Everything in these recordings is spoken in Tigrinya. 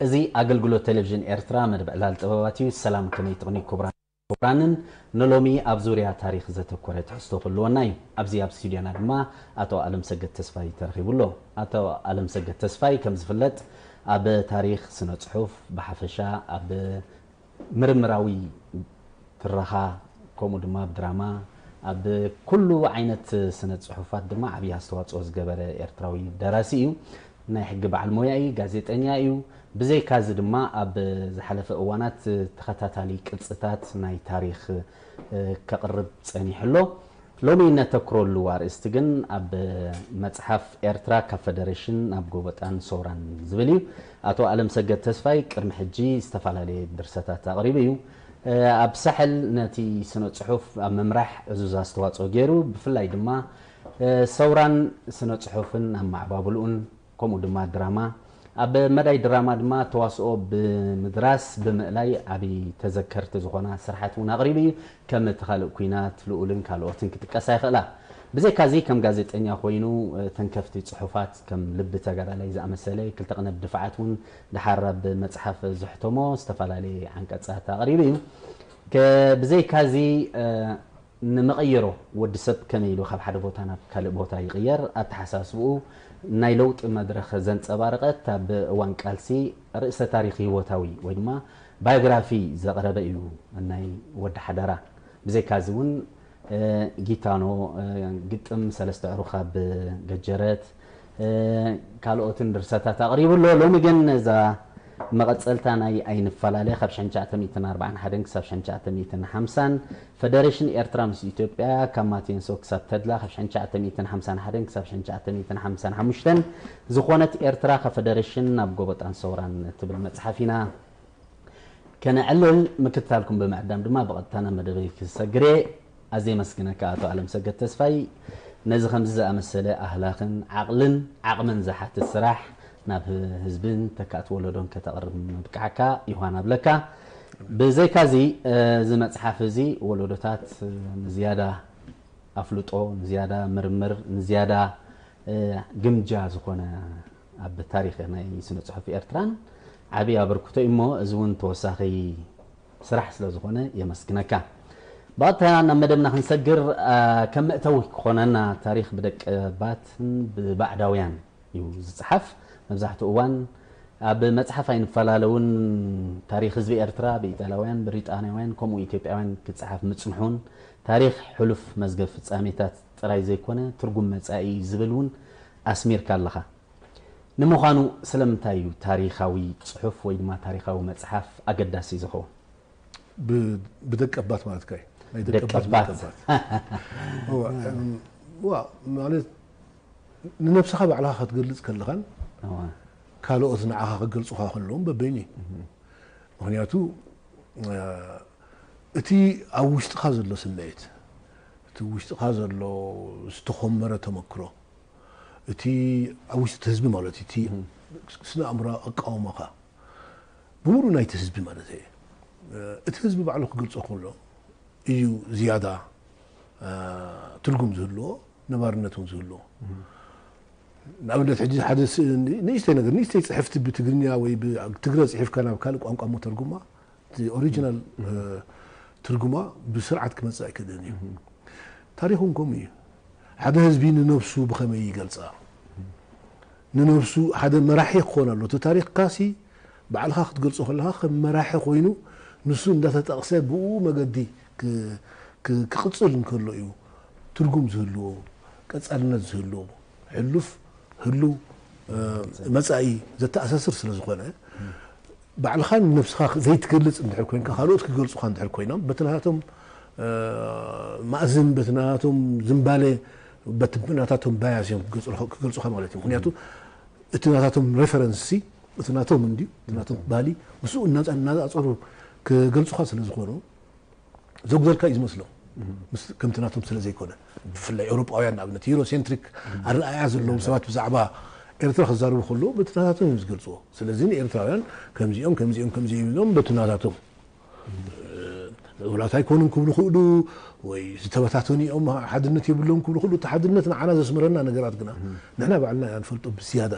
እዚ ኣገልግሎት ቴሌቪዥን ኤርትራ መደብ ዕላል ጥበባት እዩ። ሰላም፣ ከመይ ትቕኒ ክቡራን ክቡራንን፣ ንሎሚ ኣብ ዙርያ ታሪኽ ዘተኮረ ትሕዝቶ ክህልወና እዩ። ኣብዚ ኣብ ስቱድዮና ድማ ኣቶ ኣለምሰገድ ተስፋይ ተረኺቡ ኣሎ። ኣቶ ኣለምሰገድ ተስፋይ ከም ዝፍለጥ ኣብ ታሪኽ፣ ስነ ጽሑፍ ብሓፈሻ፣ ኣብ ምርምራዊ ትረኻ፣ ከምኡ ድማ ኣብ ድራማ፣ ኣብ ኩሉ ዓይነት ስነ ጽሑፋት ድማ ዓብዪ ኣስተዋጽኦ ዝገበረ ኤርትራዊ ደራሲ እዩ። ናይ ሕጊ በዓል ሞያ እዩ፣ ጋዜጠኛ እዩ። ብዘይካዚ ድማ ኣብ ዝሓለፈ እዋናት ተኸታታሊ ቅጽታት ናይ ታሪኽ፣ እ፣ ከቕርብ ጸኒሑ ኣሎ። ሎሚ እነተኩረሉ ኣርእስቲ ግን ኣብ መጽሓፍ ኤርትራ ካብ ፈደሬሽን ናብ ጎበጣን ሰውራን ዝብል እዩ። ኣቶ ኣለምሰገድ ተስፋይ ቅድሚ ሕጂ ዝተፈላለየ ድርሰታት ኣቕሪቡ እዩ። እ፣ ኣብ ሳሕል ነቲ ስነ ጽሑፍ ኣብ ምምራሕ ዕዙዝ ኣስተዋጽኦ ገይሩ፣ ብፍላይ ድማ፣ እ፣ ሰውራን ስነ ጽሑፍን ኣብ ማዕባብልኡን፣ ከምኡ ድማ ድራማ፣ ኣብ መዳይ ድራማ ድማ ተዋስኦ ብምድራስ ብምእላይ ዓቢ ተዘከርቲ ዝኾና ስራሓት እውን ኣቕሪቡ እዩ። ከም እቲ ካልእ ኲናት፣ ልኡልን ካልኦትን ክጥቀሳ ይኽእላ። ብዘይካዚ ከም ጋዜጠኛ ኮይኑ፣ እ፣ ተንከፍቲ ጽሑፋት ከም ልቢ ተጋዳላይ ዝኣመሰለ ክልተ ቅነ ብድፋዓት እውን ደሓር ኣብ መጽሓፍ ዘሕተሞ ዝተፈላለየ ዓንቀጻት ኣቕሪቡ እዩ። ከ-፣ ብዘይካዚ፣ እ፣ ንመቐየሮ ወዲ ሰብ ከመይ ኢሉ ካብ ሓደ ቦታ ናብ ካልእ ቦታ ይቕየር፣ ኣተሓሳስብኡ ናይ ለውጢ መድረኽ ዘንጸባረቐት፣ ኣብ እዋን ቃልሲ ርእሰ ታሪኽ ህይወታዊ ወይ ድማ ባዮግራፊ ዘቕረበ እዩ ናይ ወዲ ሓደራ። ብዘይካዚ እውን፣ እ፣ ጊታኖ፣ እ፣ ግጥም ሰለስተ ዕሩኽ ኣብ ገጀረት፣ እ፣ ካልኦትን ድርሰታት ኣቕሪቡ ኣሎ። ሎሚ ግን እዛ መቐጸልታ ናይ ኣይንፈላለ ካብ ሽሕን ትሽዓተ ሚእትን ኣርባዓን ሓደን ክሳብ ሽሕን ትሽዓተ ሚእትን ሓምሳን፣ ፈደሬሽን ኤርትራ ምስ ኢትዮጵያ ካብ ማቴንሶ ክሳብ ተድላ ካብ ሽሕን ትሽዓተ ሚእትን ሓምሳን ሓደን ክሳብ ሽሕን ትሽዓተ ሚእትን ሓምሳን ሓሙሽተን፣ ዝኾነት ኤርትራ ካብ ፈደሬሽን ናብ ጎበጣን ሰውራን እትብል መጽሓፍ ኢና ከነዕልል። ምክትታልኩም ብምዕዳም ድማ ብቐጥታ ናብ መደበይ ክሰግር እየ። ኣዝየ የመስግነካ ኣቶ ኣለምሰገድ ተስፋይ፣ ነዚ ከምዚ ዝኣመሰለ ኣህላኽን ዓቕልን ዓቕምን ዝሓትት ስራሕ ናብ ህዝብን ተካእቲ ወለዶን ከተቕርብ ምብቃዕካ ይኳን ኣብለካ። ብዘይካዚ፣ እዚ መጽሓፍ እዚ ወለዶታት ንዝያዳ ኣፍልጦ፣ ንዝያዳ ምርምር፣ ንዝያዳ፣ እ፣ ግምጃ ዝኾነ ኣብ ታሪኽ ናይ ስነ ጽሑፍ ኤርትራን ዓቢ ኣበርክቶ እዩ እሞ፣ እዚ እውን ተወሳኺ ስራሕ ስለ ዝኾነ የመስግነካ። ብቐጥታ ናብ መደብና ክንሰግር፣ እ፣ ከም መእተዊ ክኾነና፣ ታሪኽ ብደቀባትን ብባዕዳውያን እዩ ዝጽሓፍ። መብዛሕትኡ እዋን ኣብ መጽሓፍ ኣይንፈላለውን፣ ታሪኽ ህዝቢ ኤርትራ ብኢጣልያውያን፣ ብሪጣንያውያን፣ ከምኡ ኢትዮጵያውያን ክጽሓፍ ምጽንሑን፣ ታሪኽ ሕሉፍ መዝገብ ፍጻሜታት ጥራይ ዘይኮነ፣ ትርጉም መጻኢ እዩ ዝብል እውን ኣስሚርካ ኣለኻ። ንምዃኑ ስለምንታይ እዩ ታሪኻዊ ጽሑፍ ወይ ድማ ታሪኻዊ መጽሓፍ ኣገዳሲ ዝኸውን? ብ-፣ ብደቀባት ማለትካ እዩ? ናይ ደቀባት ደቀባት። ብደቀባት። እዋ፣ እም፣ ዋ፣ ማለት ንነብስኻ ባዕልኻ ክትገልጽ ከለኻን እዋ። ካልኦት ንዓኻ ክገልጹኻ ከለውን በበይኑ እዩ። እህ። ምኽንያቱ፣ እ፣ እቲ ኣብ ውሽጥኻ ዘሎ ስምዒት፣ እቲ ውሽጥኻ ዘሎ ዝተኾመረ ተመክሮ፣ እቲ ኣብ ውሽጢ እቲ ህዝቢ ማለት እዩ፣ እቲ እህ። ስነ ኣእምሮ ኣቃውማኻ፣ ብምሉእ ናይቲ ህዝቢ ማለት እየ። እቲ ህዝቢ ባዕሉ ክገልጾ ከሎ እዩ ዝያዳ፣ እ፣ ትርጉም ዝህልዎ፣ ነባርነት እውን ዝህልዎ። ንኣብነት ሕጂ ሓደ ስ-፣ ንእሽተይ ነገር፣ ንእሽተይ ጽሕፍቲ ብትግርኛ ወይ ብትግረ ጽሒፍካ ናብ ካልእ ቋንቋ እሞ ተርጉማ፣ እቲ ኦሪጂናል፣ እ፣ ትርጉማ ብስርዓት ክመጽእ ኣይክእልን እዩ። ታሪኽ እውን ከምኡ እዩ። ሓደ ህዝቢ ንነብሱ ብኸመይ ይገልጻ? ንነብሱ ሓደ መራሒ ክኾን ኣሎ። እቲ ታሪኽካሲ ባዕልኻ ክትገልጾ ከለኻ ከም መራሒ ኮይኑ ንሱ እንዳተጠቕሰ ብኡ መገዲ ክ-፣ ክ-፣ ክቕጽል እንከሎ እዩ ትርጉም ዝህልዎ፣ ቀጻልነት ዝህልዎ፣ ሕሉፍ፣ ህሉው፣ እ፣ መጻኢ ዘተኣሳስር ስለ ዝኾነ፣ ባዕልኻ ንነብስኻ ዘይትገልጽ እንድሕር ኮይንካ፣ ካልኦት ክገልጹኻ እንድሕር ኮይኖም፣ በቲ ናታቶም፣ እ፣ ማእዝን፣ በቲ ናታቶም ዝንባለ፣ በቲ ናታቶም ባያስ እዮም ክገልጹ-፣ ክገልጹኻ ማለት እዩ። ምኽንያቱ እቲ ናታቶም ሬፈረንስ ሲ፣ እቲ ናቶም እንድዩ፣ እቲ ናቶም ባህሊ፣ ምስኡ እናጻ-፣ እናጻጸሩ ክገልጹኻ ስለ ዝኾኑ፣ ዘጉደልካ እዩ ዝመስሎም። ምስ፣ ከምቲ ናቶም ስለ ዘይኮነ። ብፍላይ ኤውሮጳውያን ንኣብነት ዩሮሴንትሪክ ኣረኣእያ ዘለዎም ሰባት ብዛዕባ ኤርትራ ክዛረቡ ከለዉ በቲ ናታቶም እዮም ዝገልጽዎ። ስለዚ ንኤርትራውያን ከምዚኦም፣ ከምዚኦም፣ ከምዚኦም ኢሎም በቲ ናታቶም፣ እ፣ ምዕቡላት ኣይኮኑን ክብሉ ክእሉ ወይ ዝተበታተኑ እዮም፣ ሓድነት የብሎም ክብሉ ክእሉ። እቲ ሓድነት ንዓና ዘስምረና ነገራት ግና ንሕና ባዕልና ኢና ንፈልጦ ብዝያዳ።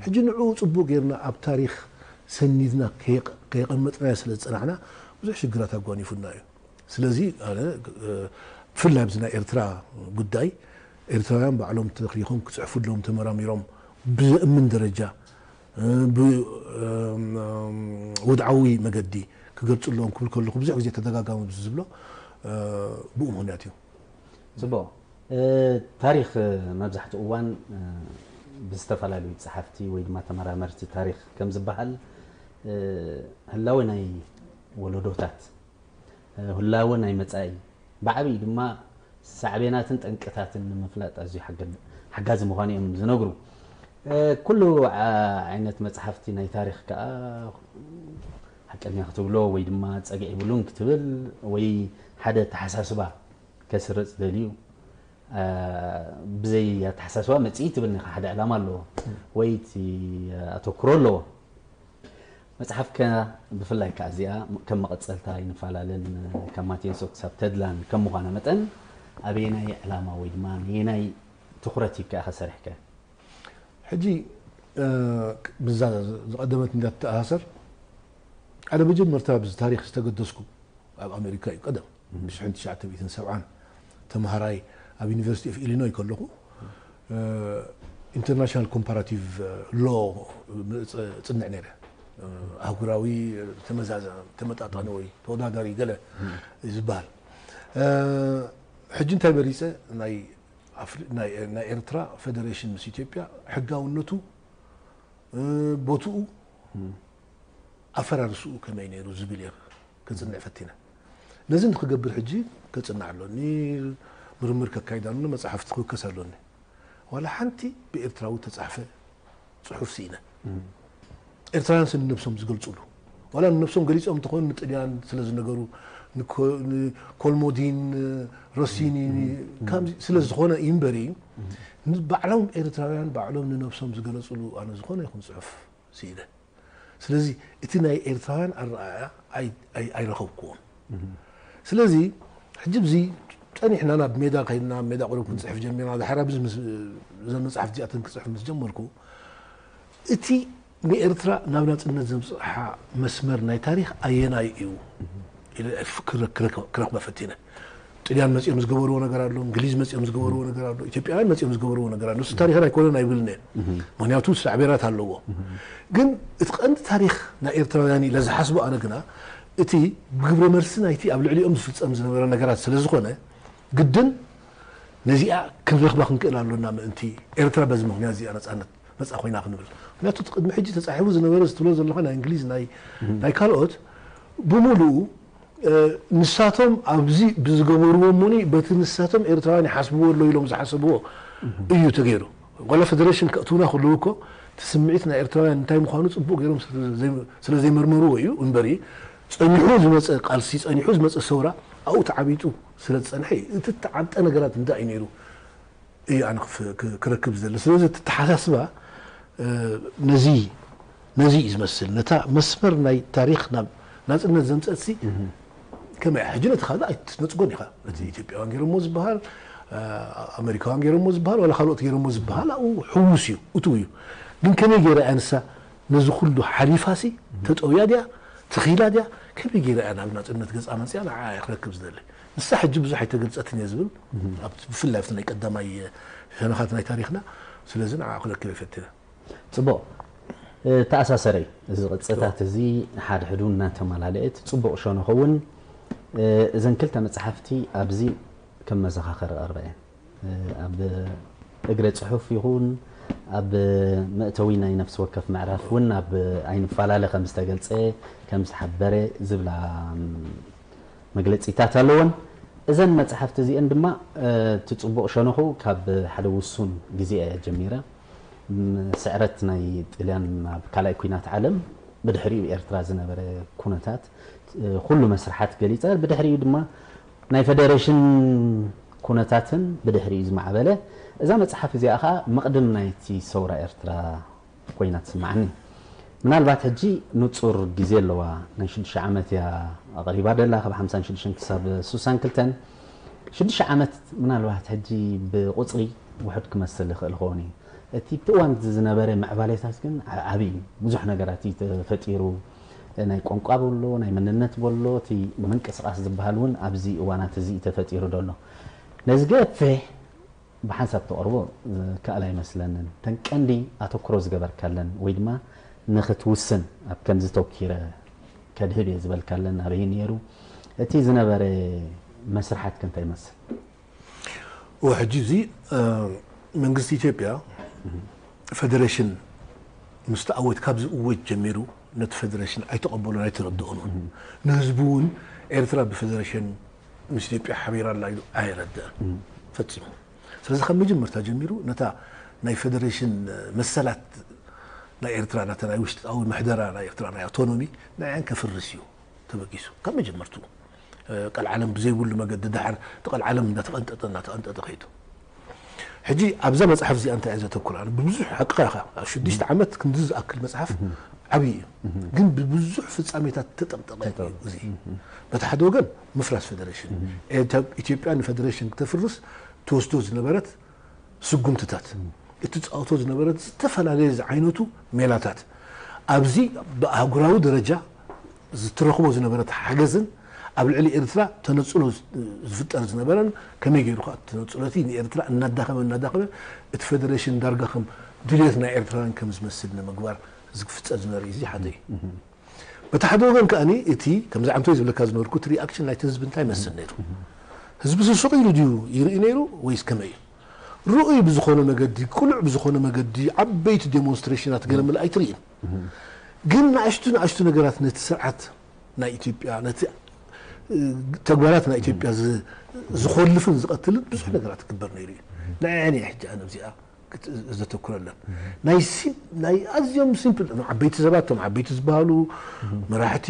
ሕጂ ንዕኡ ጽቡቕ ጌርና ኣብ ታሪኽ ሰኒድና ከየቐመጥናዮ ስለ ዝጸናሕና ብዙሕ ሽግራት ኣጓኒፉና እዩ። ስለዚ ኣነ ብፍላይ ኣብዚ ናይ ኤርትራ ጉዳይ ኤርትራውያን ባዕሎም ተሪኾም ክጽሕፉ ኣለዎም፣ ተመራሚሮም ብዘእምን ደረጃ ብወድዓዊ መገዲ ክገልጹ ኣለዎም ክብል ከለኹ ብዙሕ ግዜ ተደጋጋሚ ዝብሎ ብኡ ምኽንያት እዩ። ጽቡቕ። ታሪኽ መብዛሕትኡ እዋን ብዝተፈላለዩ ጸሓፍቲ ወይ ድማ ተመራመርቲ ታሪኽ ከም ዝበሃል ህላወ ናይ ወለዶታት፣ ህላወ ናይ መጻኢ፣ ብዓብዪ ድማ ሳዕቤናትን ጠንቅታትን ንምፍላጥ ኣዝዩ ሓጋዚ ምዃኑ እዮም ዝነግሩ። ኩሉ ዓይነት መጽሓፍቲ ናይ ታሪኽ ከኣ ሓቀኛ ክትብሎ ወይ ድማ ጸግዒ ብሉን ክትብል ወይ ሓደ ኣተሓሳስባ ከስርጽ ደልዩ ብዘይ ኣተሓሳስባ መጽኢ ትብል ኒኻ። ሓደ ዕላማ ኣለዎ ወይ እቲ ኣተኩሮ ኣለዎ። መጽሓፍከ ብፍላይ ከኣ እዚኣ ከም መቐጸልታ ኣይንፈላለን ካብ ማቴንሶ ክሳብ ተድላን ከም ምዃና መጠን ኣበየናይ ዕላማ ወይ ድማ ነየናይ ትኹረት ሂብካ ኢኻ ሰሪሕከ? ሕጂ ብዛ ዝቐደመት እንዳተኣሳሰር ሓደ መጀመርታ ብዚ ታሪኽ ዝተገደስኩ ኣብ ኣሜሪካ እዩ ቀደም ብ1970 ተምሃራይ ኣብ ዩኒቨርሲቲ ኦፍ ኢሊኖይ ከለኹ ኢንተርናሽናል ኮምፓራቲቭ ሎ ጽንዕ ነይረ። ኣህጉራዊ ተመዛዘ ተመጣጣኒ ወይ ተወዳዳሪ ገለ ዝበሃል ሕጂ እንታይ መሪፀ ናይ ኤርትራ ፌደሬሽን ምስ ኢትዮጵያ ሕጋውነቱ ቦትኡ ኣፈራርስኡ ከመይ ነይሩ ዝብል እየ ክጽንዕ ፈቲነ። ነዚ ንክገብር ሕጂ ከጽንዕ ኣሎኒ፣ ምርምር ከካይድ ኣሎኒ፣ መጽሓፍቲ ክውከስ ኣሎኒ። ዋላ ሓንቲ ብኤርትራዊ ተጻሕፈ ጽሑፍ ስኢነ። ኤርትራውያን ስለ ንነብሶም ዝገልጹሉ ዋላ ንነብሶም ገሊጾም እንተኾኑ ንጥልያን ስለ ዝነገሩ ንኮልሞዲን ሮሲኒ ስለ ዝኾነ እዩ እምበሪ ባዕሎም ኤርትራውያን ባዕሎም ንነብሶም ዝገለጹሉ ኣነ ዝኾነ ይኹን ጽሑፍ ስኢነ። ስለዚ እቲ ናይ ኤርትራውያን ኣረኣእያ ኣይረኸብክዎን። ስለዚ ሕጂ ብዚ ጸኒሕና ናብ ሜዳ ከይድና ሜዳ ቁሩብ ክንጽሕፍ ጀሚርና። ድሓር ኣብዚ እዘን መጽሓፍቲ እዚኣተን ክጽሕፍ ምስ ጀመርኩ እቲ ንኤርትራ ናብ ናጽነት ዘምጽሓ መስመር ናይ ታሪኽ ኣየናይ እዩ ኢለ ክረኽባ ፈቲነ። ጥልያን መጺኦም ዝገበርዎ ነገር ኣሎ፣ እንግሊዝ መጺኦም ዝገበርዎ ነገር ኣሎ፣ ኢትዮጵያውያን መጺኦም ዝገበርዎ ነገር ኣሎ። ንሱ ታሪኽና ኣይኮነን ኣይብልን እየ። ምክንያቱ ሳዕቤናት ኣለዎ። ግን እቲ ቀንዲ ታሪኽ ናይ ኤርትራውያን ኢለ ዝሓስቦ ኣነ ግና እቲ ግብረ መልሲ ናይቲ ኣብ ልዕሊኦም ዝፍጸም ዝነበረ ነገራት ስለ ዝኾነ ግድን ነዚኣ ክንረኽባ ክንክእል ኣሎና ምእንቲ ኤርትራ በዚ ምኽንያት እዚኣ ነጻነት መጻ ኮይና ክንብል። ምክንያቱ እቲ ቅድሚ ሕጂ ተጻሒፉ ዝነበረ ዝትብሎ ዘለኻ ናይ እንግሊዝ ናይ ናይ ካልኦት ብምሉኡ ንሳቶም ኣብዚ ብዝገበርዎ እሞኒ በቲ ንሳቶም ኤርትራውያን ይሓስብዎ ኣሎ ኢሎም ዝሓሰብዎ እዩ ተገይሩ። ዋላ ፌደሬሽን ከእትውና ከለዉ እኮ እቲ ስምዒት ናይ ኤርትራውያን እንታይ ምዃኑ ጽቡቕ ገይሮም ስለ ዘይመርመርዎ እዩ እምበሪ ጸኒሑ ዝመጸ ቃልሲ ጸኒሑ ዝመጸ ሰውራ ኣብኡ ተዓቢጡ ስለ ዝጸንሐ እዩ። እቲ ተዓብጠ ነገራት እንታይ እዩ ነይሩ እዩ ኣነ ክረክብ ዝደሊ። ስለዚ እቲ ተሓሳስባ ነዚ ነዚ እዩ ዝመስል። ነታ መስመር ናይ ታሪኽ ናብ ናጽነት ዘምጸት ሲ ከመይ ሕጂ ነቲ ካልእ ኣይትነጽጎን ኢኻ። እቲ ኢትዮጵያውያን ገይሮሞ ዝበሃል ኣሜሪካውያን ገይሮሞ ዝበሃል ዋላ ካልኦት ገይሮሞ ዝበሃል ኣብኡ ሕዉስ እዩ እትው እዩ። ግን ከመይ ገይራ እያ ንሳ ነዚ ኩሉ ሓሊፋ ሲ ተጠውያ ድያ ትኺላ ድያ ከመይ ገይራ እያ ናብ ናጽነት ገጻ መጽያ ንዓ እየ ክረክብ ዝደሊ። ንሳ ሕጂ ብዙሕ ኣይተገልጸትን እየ ዝብል ኣብቲ ብፍላይ ኣብቲ ናይ ቀዳማይ ሸነኻት ናይ ታሪኽና ስለዚ ንዓ ክረክብ እየ ፈቲነ። ጽቡቕ ተኣሳሰረይ እዚ ቅጽታት እዚ ሓድሕዱ እናተመላለእት ጽቡቕ ሸነኹ እውን እዘን ክልተ መጽሓፍቲ ኣብዚ ከም መዘኻኸሪ ቀርበ እየን ኣብ እግረ ጽሑፍ ይኹን ኣብ መእተዊ ናይ ነፍሲ ወከፍ ምዕራፍ እውን ኣብ ኣይንፈላለ ከም ዝተገልጸ ከም ዝሓበረ ዝብላ መግለጺታት ኣለወን። እዘን መጽሓፍቲ እዚአን ድማ እቲ ጽቡቕ ሸነኹ ካብ ሓደ ውሱን ግዜ እየ ጀሚረ። ስዕረት ናይ ጥልያን ኣብ ካልኣይ ኩናት ዓለም ብድሕሪኡ ኤርትራ ዝነበረ ኩነታት ኩሉ መስርሓት ገሊጸ። ብድሕሪኡ ድማ ናይ ፌደሬሽን ኩነታትን ብድሕሪኡ ዝማዕበለ እዛ መጽሓፍ እዚኣ ኸዓ መቕድም ናይቲ ሰውራ ኤርትራ ኮይና ትስምዓኒ። ምናልባት ሕጂ ንጹር ግዜ ኣለዋ ናይ ሽዱሽተ ዓመት እያ ኣቕሪባ ደላ ካብ ሓምሳን ሽዱሽተን ክሳብ ሱሳን ክልተን ሽዱሽተ ዓመት ምናልባት ሕጂ ብቁጽሪ ውሑድ ክመስል ይኽእል ኸውን እዩ። እቲ ኣብቲ እዋን ዝነበረ ምዕባሌታት ግን ዓ- ዓብዪ እዩ። ብዙሕ ነገራት እዩ ተፈጢሩ። ናይ ቋንቋ በሎ፣ ናይ መንነት በሎ፣ እቲ ምንቅስቃስ ዝበሃል እውን ኣብዚ እዋናት እዚ እዩ ተፈጢሩ ዘሎ። ነዚ ገፊሕ ብሓንሳብ ተቕርቦ ዝከኣል ኣይመስለንን። እተን ቀንዲ ኣተኩሮ ዝገበርካለን ወይ ድማ ንኽትውስን ኣብ ከምዚ ተኪረ ከድህብ እየ ዝበልካለን ኣበይ ነይሩ? እቲ ዝነበረ መስርሓት ከ እንታይ ይመስል? ወሕጂ እዚ መንግስቲ ኢትዮጵያ ፈደሬሽን ምስ ተኣወት ካብዚ እወት ጀሚሩ ነቲ ፈደሬሽን ኣይተቐበሎን ኣይተረድኦን እውን። ንህዝቡ እውን ኤርትራ ብፈደሬሽን ምስ ኢትዮጵያ ሓቢራ ኣላ ኢሉ ኣይረድአን ፈጺሙ። ስለዚ ካብ መጀመርታ ጀሚሩ ነታ ናይ ፈደሬሽን መሰላት ናይ ኤርትራ ናታ ናይ ውሽጣዊ ምሕደራ ናይ ኤርትራ ናይ ኣውቶኖሚ ንዓን ከፍርስ እዩ ተበጊሱ ካብ መጀመርትኡ። ቀልዓለም ብዘይብሉ መገዲ ድሓር እቲ ቀልዓለም እናተቐንጠጠ እናተቐንጠጠ ከይዱ። ሕጂ ኣብዛ መፅሓፍ እዚኣ እንታይ እየ ዘተኩር ኣነ? ብብዙሕ ሓቅኻ ኢኻ ኣብ ሽዱሽተ ዓመት ክንዲ ዝኣክል መፅሓፍ ዓብዪ እዩ፣ ግን ብብዙሕ ፍፃሜታት ተጠምጠቐ እዩ። እዚ በቲ ሓደ ወገን ምፍራስ ፈደሬሽን ኢትዮጵያ ንፈደሬሽን ክተፍርስ ትወስዶ ዝነበረት ስጉምትታት፣ እትፃወቶ ዝነበረት ዝተፈላለየ ዝዓይነቱ ሜላታት ኣብዚ ብኣህጉራዊ ደረጃ ዝትረኽቦ ዝነበረት ሓገዝን ኣብ ልዕሊ ኤርትራ ተነፅሎ ዝፍጠር ዝነበረን ከመይ ገይሩ ከዓ ተነፅሎ እቲ ንኤርትራ እናዳኸመ እናዳኸመ እቲ ፈደሬሽን ዳርጋ ከም ድልየት ናይ ኤርትራውያን ከም ዝመስል ንምግባር ዝፍፀር ዝነበረ እዩ። እዚ ሓደ እዩ። በቲ ሓደ ወገን ከኣ እቲ ከምዚ ዓንቶ ዝብለካ ዝነበርኩ እቲ ሪኣክሽን ናይቲ ህዝቢ እንታይ ይመስል ነይሩ? ህዝቢ ስሱቕ ኢሉ ድዩ ይርኢ ነይሩ ወይስ ከመይ እዩ? ርኡይ ብዝኾነ መገዲ፣ ቅሉዕ ብዝኾነ መገዲ ዓበይቲ ዴሞንስትሬሽናት ገለ ምልእ ኣይትርእይን። ግን ንኣሽቱ ንኣሽቱ ነገራት ነቲ ስርዓት ናይ ኢትዮጵያ ነቲ ተግባራት ናይ ኢትዮጵያ ዝኾልፍን ዝቐትልን ብዙሕ ነገራት ክግበር ነይሩ እዩ። ንዓይ ሕጂ ኣነ ኣብዚኣ ዘተኩረለን ናይ ኣዝዮም ሲምፕል ዓበይቲ ሰባት ቶም ዓበይቲ ዝበሃሉ መራሕቲ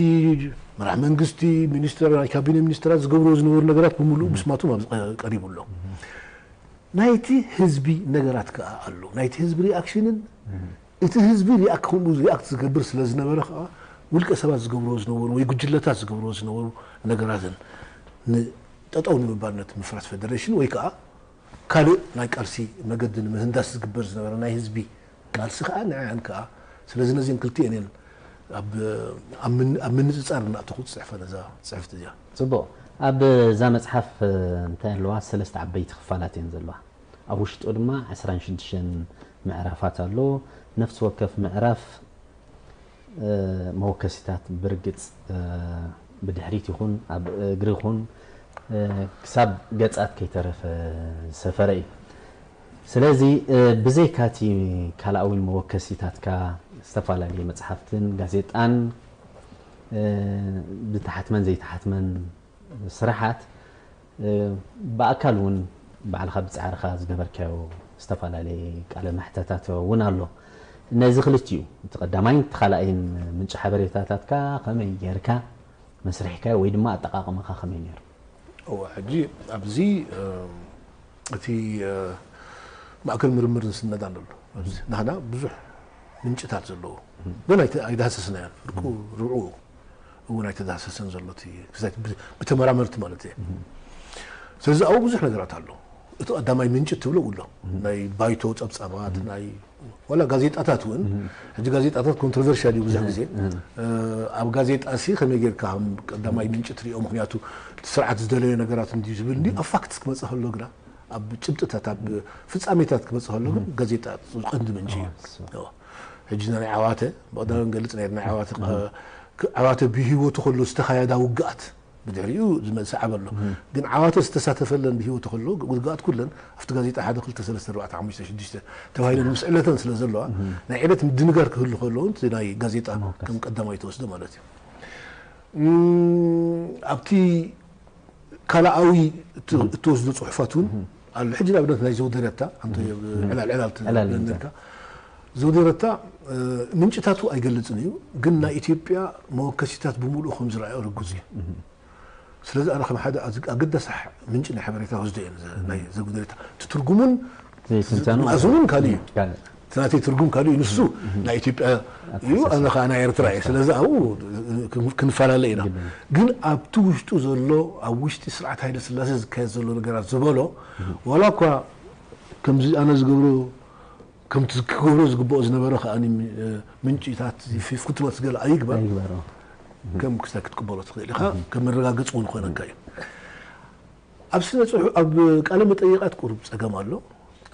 መራሕ መንግስቲ ሚኒስትር ናይ ካቢነ ሚኒስትራት ዝገብርዎ ዝነበሩ ነገራት ብምሉእ ምስማቶም ኣብዚ ቀሪቡ ኣሎ። ናይቲ ህዝቢ ነገራት ከዓ ኣሎ። ናይቲ ህዝቢ ሪኣክሽንን እቲ ህዝቢ ሪኣክት ከምኡ ሪኣክት ዝገብር ስለ ዝነበረ ከዓ ውልቀ ሰባት ዝገብርዎ ዝነበሩ ወይ ጉጅለታት ዝገብርዎ ዝነበሩ ነገራትን ንጠጠው ንምባል ነቲ ምፍራስ ፈደሬሽን ወይ ከዓ ካልእ ናይ ቃልሲ መገዲ ንምህንዳስ ዝግበር ዝነበረ ናይ ህዝቢ ቃልሲ ከዓ ንዕን ከዓ ስለዚ ነዚን ክልቲኤን እየን ኣብ ኣብ ምንፅፃር እናእተኹ ዝፅሕፈ ነዛ ፅሕፍቲ እዚኣ። ፅቡቕ። ኣብ እዛ መፅሓፍ እንታይ ኣለዋ? ሰለስተ ዓበይቲ ክፋላት እየን ዘለዋ። ኣብ ውሽጡ ድማ ዕስራን ሽዱሽተን ምዕራፋት ኣሎ። ነፍሲ ወከፍ ምዕራፍ መወከሲታት ብርግፅ ብድሕሪት ይኹን ኣብ እግሪ ይኹን ክሳብ ገፃት ከይተረፈ ዝሰፈረ እዩ። ስለዚ ብዘይካቲ ካልኣዊ መወከሲታትካ ዝተፈላለዩ መፅሓፍትን ጋዜጣን ብተሓትመን ዘይተሓትመን ስራሓት ብኣካል እውን ባዕልኻ ብፃዕርኻ ዝገበርካዮ ዝተፈላለየ ቃለ መሕተታት እውን ኣሎ። ነዚ ክልቲኡ እቲ ቀዳማይን እቲ ካልኣይን ምንጪ ሓበሬታታትካ ከመይ ጌርካ መስሪሕካዮ ወይ ድማ ኣጠቓቕማኻ ከመይ ነይሩ? እወ ሕጂ ኣብዚ እቲ ማእከል ምርምር ዝስነድ ኣሎ። ናህና ብዙሕ ምንጭታት ዘለዎ ግን ኣይዳህሰስናዮን። ፍርቁ ርብዑ እውን ኣይተዳህሰሰን ዘሎ ብተመራመርቲ ማለት እየ። ስለዚ ኣብኡ ብዙሕ ነገራት ኣሎ። እቲ ቀዳማይ ምንጭ ትብሎ ውሎ ናይ ባይቶ ፀብፃባት ናይ ዋላ ጋዜጣታት እውን ሕጂ ጋዜጣታት ኮንትሮቨርሻል እዩ ብዙሕ ግዜ ኣብ ጋዜጣ ሲ ከመይ ጌርካ ከም ቀዳማይ ምንጭ ትሪኦ ምክንያቱ ስርዓት ዝደለዮ ነገራት እንዲ ዝብል እንዲ ኣብ ፋክትስ ክመፅእ ከሎ ግና ኣብ ጭብጥታት ኣብ ፍፃሜታት ክመፅእ ከሎ ግን ጋዜጣ ቀንዲ ምንጭ እዩ። ሕጂ ናይ ዓዋተ ብቐዳም ንገልፅ ናይ ናይ ዓዋተ ዓዋተ ብህይወቱ ከሎ ዝተኻየዳ ውግኣት ብድሕሪኡ ዝመፅእ ዓበሎ ግን ዓዋተ ዝተሳተፈለን ብህይወቱ ከሎ ውግኣት ኩለን ኣብቲ ጋዜጣ ሓደ ክልተ ሰለስተ ኣርባዕተ ሓሙሽተ ሽዱሽተ ተባሂለን ምስ ዕለተን ስለ ዘለዋ ናይ ዕለት ምድንጋር ክህሉ ከሎ እውን ናይ ጋዜጣ ከም ቀዳማይ ተወስዶ ማለት እዩ። ኣብቲ ካልኣዊ እትወስዶ ፅሑፋት እውን ኣሎ። ሕጂ ንኣብነት ናይ ዘውደረታ ኣንተ ዕላል ዕላል ትብለካ ዘውደረታ ምንጭታቱ ኣይገልፅን እዩ፣ ግን ናይ ኢትዮጵያ መወከሲታት ብምሉኡ ከም ዝረኣዮ ርጉፅ እዩ። ስለዚ ኣነ ከም ሓደ ኣገዳሲ ምንጭ ናይ ሓበሬታ ወስዶ እየ ናይ ዘጉደረታ ትትርጉሙን ዘይትንተኑ ኣዝሙን ካልእ እዩ። እቲ ናተይ ትርጉም ካልእ እዩ። ንሱ ናይ ኢትዮጵያ እዩ፣ ኣነ ከዓ ናይ ኤርትራ እየ። ስለዚ ኣብኡ ክንፈላለ ኢና። ግን ኣብቲ ውሽጡ ዘሎ ኣብ ውሽጢ ስርዓት ሃይለ ስላሴ ዝካየድ ዘሎ ነገራት ዝበሎ ዋላ እኳ ከምዚ ኣነ ዝገብሮ ከምቲ ክገብሮ ዝግብኦ ዝነበረ ከኣ ምንጭታት ፍትወት ገለ ኣይግበር። ኣይግበሮ ከም ክስታይ ክትቅበሎ ትኽእል ኢኻ። ከም መረጋገፂ እውን ኮይነካ እዩ። ኣብ ስነ ፅሑ ኣብ ቃለ መጠይቃት ቁሩብ ፀገም ኣሎ።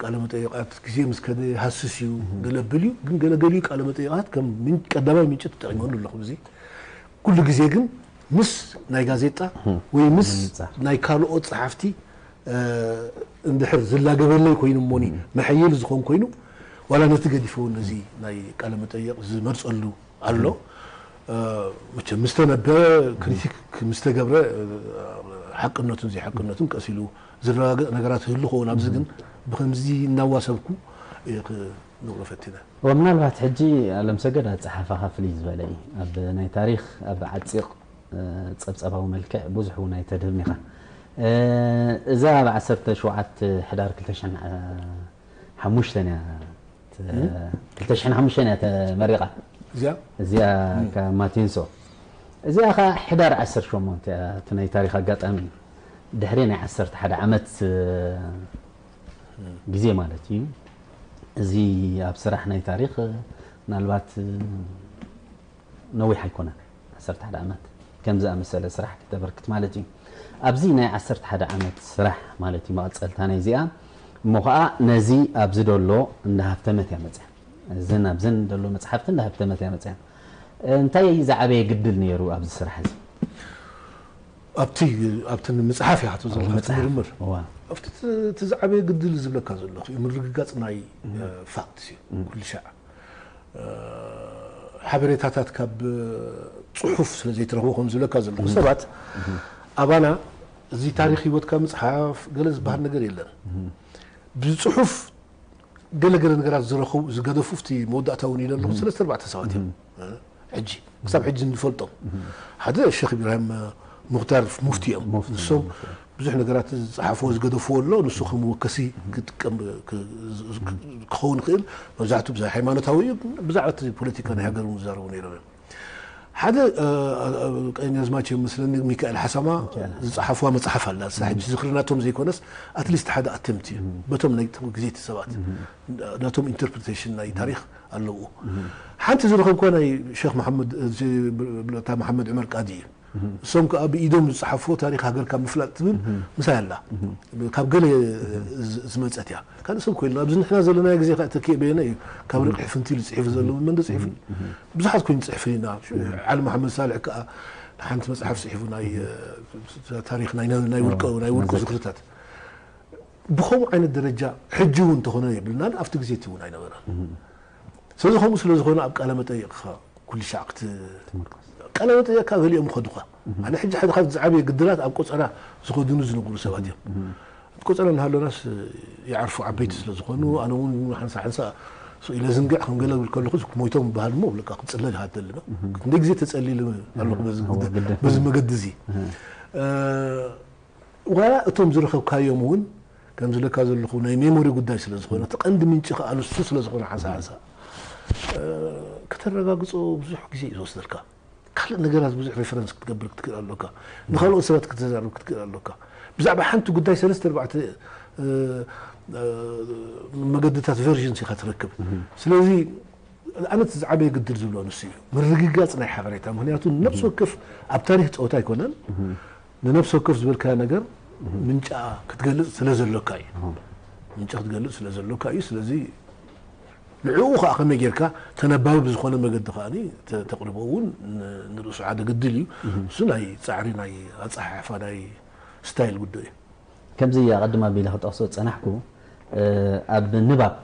ቃለ መጠይቃት ግዜ ምስ ከደ ሃስስ እዩ፣ ገለ ብል እዩ። ግን ገለ ገሊኡ ቃለ መጠይቃት ከም ቀዳማይ ምንጭ ተጠቂመሉ ኣለኹ። እዚ ኩሉ ግዜ ግን ምስ ናይ ጋዜጣ ወይ ምስ ናይ ካልኦት ጸሓፍቲ እንድሕር ዝላገበለይ ኮይኑ እሞኒ መሐይል ዝኾን ኮይኑ ዋላ ነቲ ገዲፈ እውን ነዚ ናይ ቃለ መጠየቕ ዝመርጸሉ ኣሎ። መቸም ምስተነበ ክሪቲክ ምስተገብረ ሓቅነቱን ዘይሓቅነቱን ቀስ ኢሉ ዝረጋገጽ ነገራት ይህሉ ኸውን። ኣብዚ ግን ብከምዚ እናዋሰብኩ እየ ክነግሮ ፈቲነ። ወምናልባት ሕጂ ኣለምሰገድ ኣጸሓፋኻ ፍልይ ዝበለ እዩ። ኣብ ናይ ታሪኽ ኣብ ዓጺቕ ጸብጸባዊ መልክዕ ብዙሕ እውን ኣይተድህብን ኢኻ። እዛ ኣብ ዓሰርተ ሸውዓተ ሕዳር ክልተ ሽሕን ሓሙሽተን እያ ተ- ክልተ ሽሕን ሓሙሽተን እያ ተመሪቓ። እዚኣ እዚኣ ካብ ማቲንሶ። እዚኣ ኸዓ ሕዳር ዓሰርተ ሸሞንተ እያ። እቲ ናይ ታሪኽ ኣጋጣሚ ድሕሪ ናይ ዓሰርተ ሓደ ዓመት ግዜ ማለት እዩ። እዚ ኣብ ስራሕ ናይ ታሪኽ ምናልባት ነዊሕ ኣይኮነን፣ ዓሰርተ ሓደ ዓመት ከም ዝኣመሰለ ስራሕ ክተበርክት ማለት እዩ። ኣብዚ ናይ ዓሰርተ ሓደ ዓመት ስራሕ ማለት እዩ መቐጸልታ ናይ እዚኣ። እሞ ኸዓ ነዚ ኣብዚ ደሎ እንዳሃፍተመት እያ መጽያ። እዝን ኣብዝን ደሎ መጽሓፍቲ እንዳሃፍተመት እያ መጽያ። እንታይ ዝዓበየ ግድል ነይሩ ኣብዚ ስራሕ እዚ? ኣብቲ ኣብቲ ምጽሓፍ እያ ትብሎ ዘለኻ፣ ኣብቲ መጽሓፍ። ምርምር። እዋ። ኣብቲ እቲ እቲ ዝዓበየ ግድል ዝብለካ ዘለኹ እዩ፣ ምርግጋጽ ናይ ፋክት እዩ። ኩሉ ሻዕ ሓበሬታታት ካብ ጽሑፍ ስለ ዘይትረኽቦ ከም ዝብለካ ዘለኹ ሰባት ኣባና እዚ ታሪኽ ህይወትካ ምጽሓፍ ገለ ዝበሃል ነገር የለን። ብጽሑፍ ገለገለ ነገራት ዝረኸቡ ዝገደፉ ኣብቲ መወዳእታ እውን ኢለ ኣለኹ ሰለስተ ኣርባዕተ ሰባት እዮም። ሕጂ ክሳብ ሕጂ እንፈልጦም ሓደ ሸኽ ኢብራሂም ሙኽታር ሙፍቲ እዮም። ሙፍቲ ንሶም ብዙሕ ነገራት ዝጸሓፍዎ ዝገደፍዎ ኣሎ። ንሱ ከም መወከሲ ክጥቀም ክኸውን ይኽእል። መብዛሕትኡ ብዛዕባ ሃይማኖታዊ እዩ፣ ብዛዕባ እቲ ፖለቲካ ናይ ሃገር እውን ዝዛረቡ ነይሮም እዮም። ሓደ ቀኛዝማች እዮም መስለኒ ሚካኤል ሓሳማ ዝጸሓፍዋ መጽሓፍ ኣላ። እሳ ሕጂ ዝኽሪ ናቶም ዘይኮነስ ኣትሊስት ሓደ ኣተምት እዩ በቶም ናይ ግዜቲ ሰባት ናቶም ኢንተርፕሪቴሽን ናይ ታሪኽ ኣለዎ። ሓንቲ ዝረኸብኳ ናይ ሸኽ መሓመድ እታ መሓመድ ዕመር ቃዲ እዩ። እሶም ከዓ ብኢዶም ዝፀሓፍዎ ታሪክ ሃገርካ ምፍላጥ ትብል ምሳይ ኣላ ካብ ገለ ዝመፀት እያ። ካልእ ሰብ ኮይኑ ኣብዚ ንሕና ዘለና ግዜ ከዓ ተኪኤ በየነ እዩ ካብ ርቂ ሕፍንቲ ኢሉ ፅሒፉ ዘሎ መን ፅሒፉ ብዙሓት ኮይኑ ፅሕፍን ኢና። ዓሊ መሓመድ ሳልሕ ከዓ ሓንቲ መፅሓፍ ፅሒፉ ናይ ታሪክ ናይ ውልቀ ናይ ውልቁ ዝክርታት ብከምኡ ዓይነት ደረጃ ሕጂ እውን እንተኾነ የብልናን ኣብቲ ግዜ እቲ እውን ኣይነበረን። ስለዚ ከምኡ ስለ ዝኾነ ኣብ ቃለ መጠይቕኻ ኩሉ ሻዕ ክት ቃለ መጠየቅካ ገሊኦም ይኸዱኻ። ኣነ ሕጂ ሓደ ካብ ዝዓበየ ግድላት ኣብ ቆፀራ ዝኸዱኒ ዝነብሩ ሰባት እዮም። እቲ ቆፀራ እናሃለናስ ይዓርፉ ዓበይቲ ስለ ዝኾኑ ኣነ እውን ሓንሳ ሓንሳ ስቕ ኢለ ዝንግዕ ከም ገለ ብል ከለኹ ሞይቶም ይበሃል እሞ ብለካ ክፅለል ይሃተልና ክንደይ ግዜ ተፀሊለ ኣለኹ በዚ መገዲ እዚ። ዋላ እቶም ዝረኸብካዮም እውን ከም ዝለካ ዘለኹ ናይ ሜሞሪ ጉዳይ ስለ ዝኾነ እቲ ቀንዲ ምንጪ ከዓ ንሱ ስለ ዝኾነ ሓንሳ ሓንሳ ከተረጋግፆ ብዙሕ ግዜ እዩ ዝወስደልካ። ካልእ ነገራት ብዙሕ ሬፈረንስ ክትገብር ክትክእል ኣሎካ። ንካልኦት ሰባት ክትዛረብ ክትክእል ኣሎካ። ብዛዕባ ሓንቲ ጉዳይ ሰለስተ ኣርባዕተ መገድታት ቨርዥንስ ኢኻ ትረክብ። ስለዚ ኣነ እቲ ዝዓበየ ግድል ዝብሎ ንሱ እዩ ምርግጋፅ ናይ ሓበሬታ። ምክንያቱ ነብሲ ወከፍ ኣብ ታሪክ ፀወታ ኣይኮነን። ንነብሲ ወከፍ ዝበልካዮ ነገር ምንጫ ክትገልፅ ስለ ዘሎካ እዩ። ምንጫ ክትገልፅ ስለ ዘሎካ እዩ። ስለዚ ንዕኡ ከዓ ከመይ ጌርካ ተነባቢ ብዝኾነ መገዲ ከዓ ተቕርቦ እውን ንርእሱ ሓደ ግድል እዩ። እሱ ናይ ፃዕሪ ናይ ኣፀሓሕፋ ናይ ስታይል ጉዳይ እዩ። ከምዚ ኣቐድም ኣቢለ ክጠቕሶ ዝጸናሕኩ ኣብ ንባብ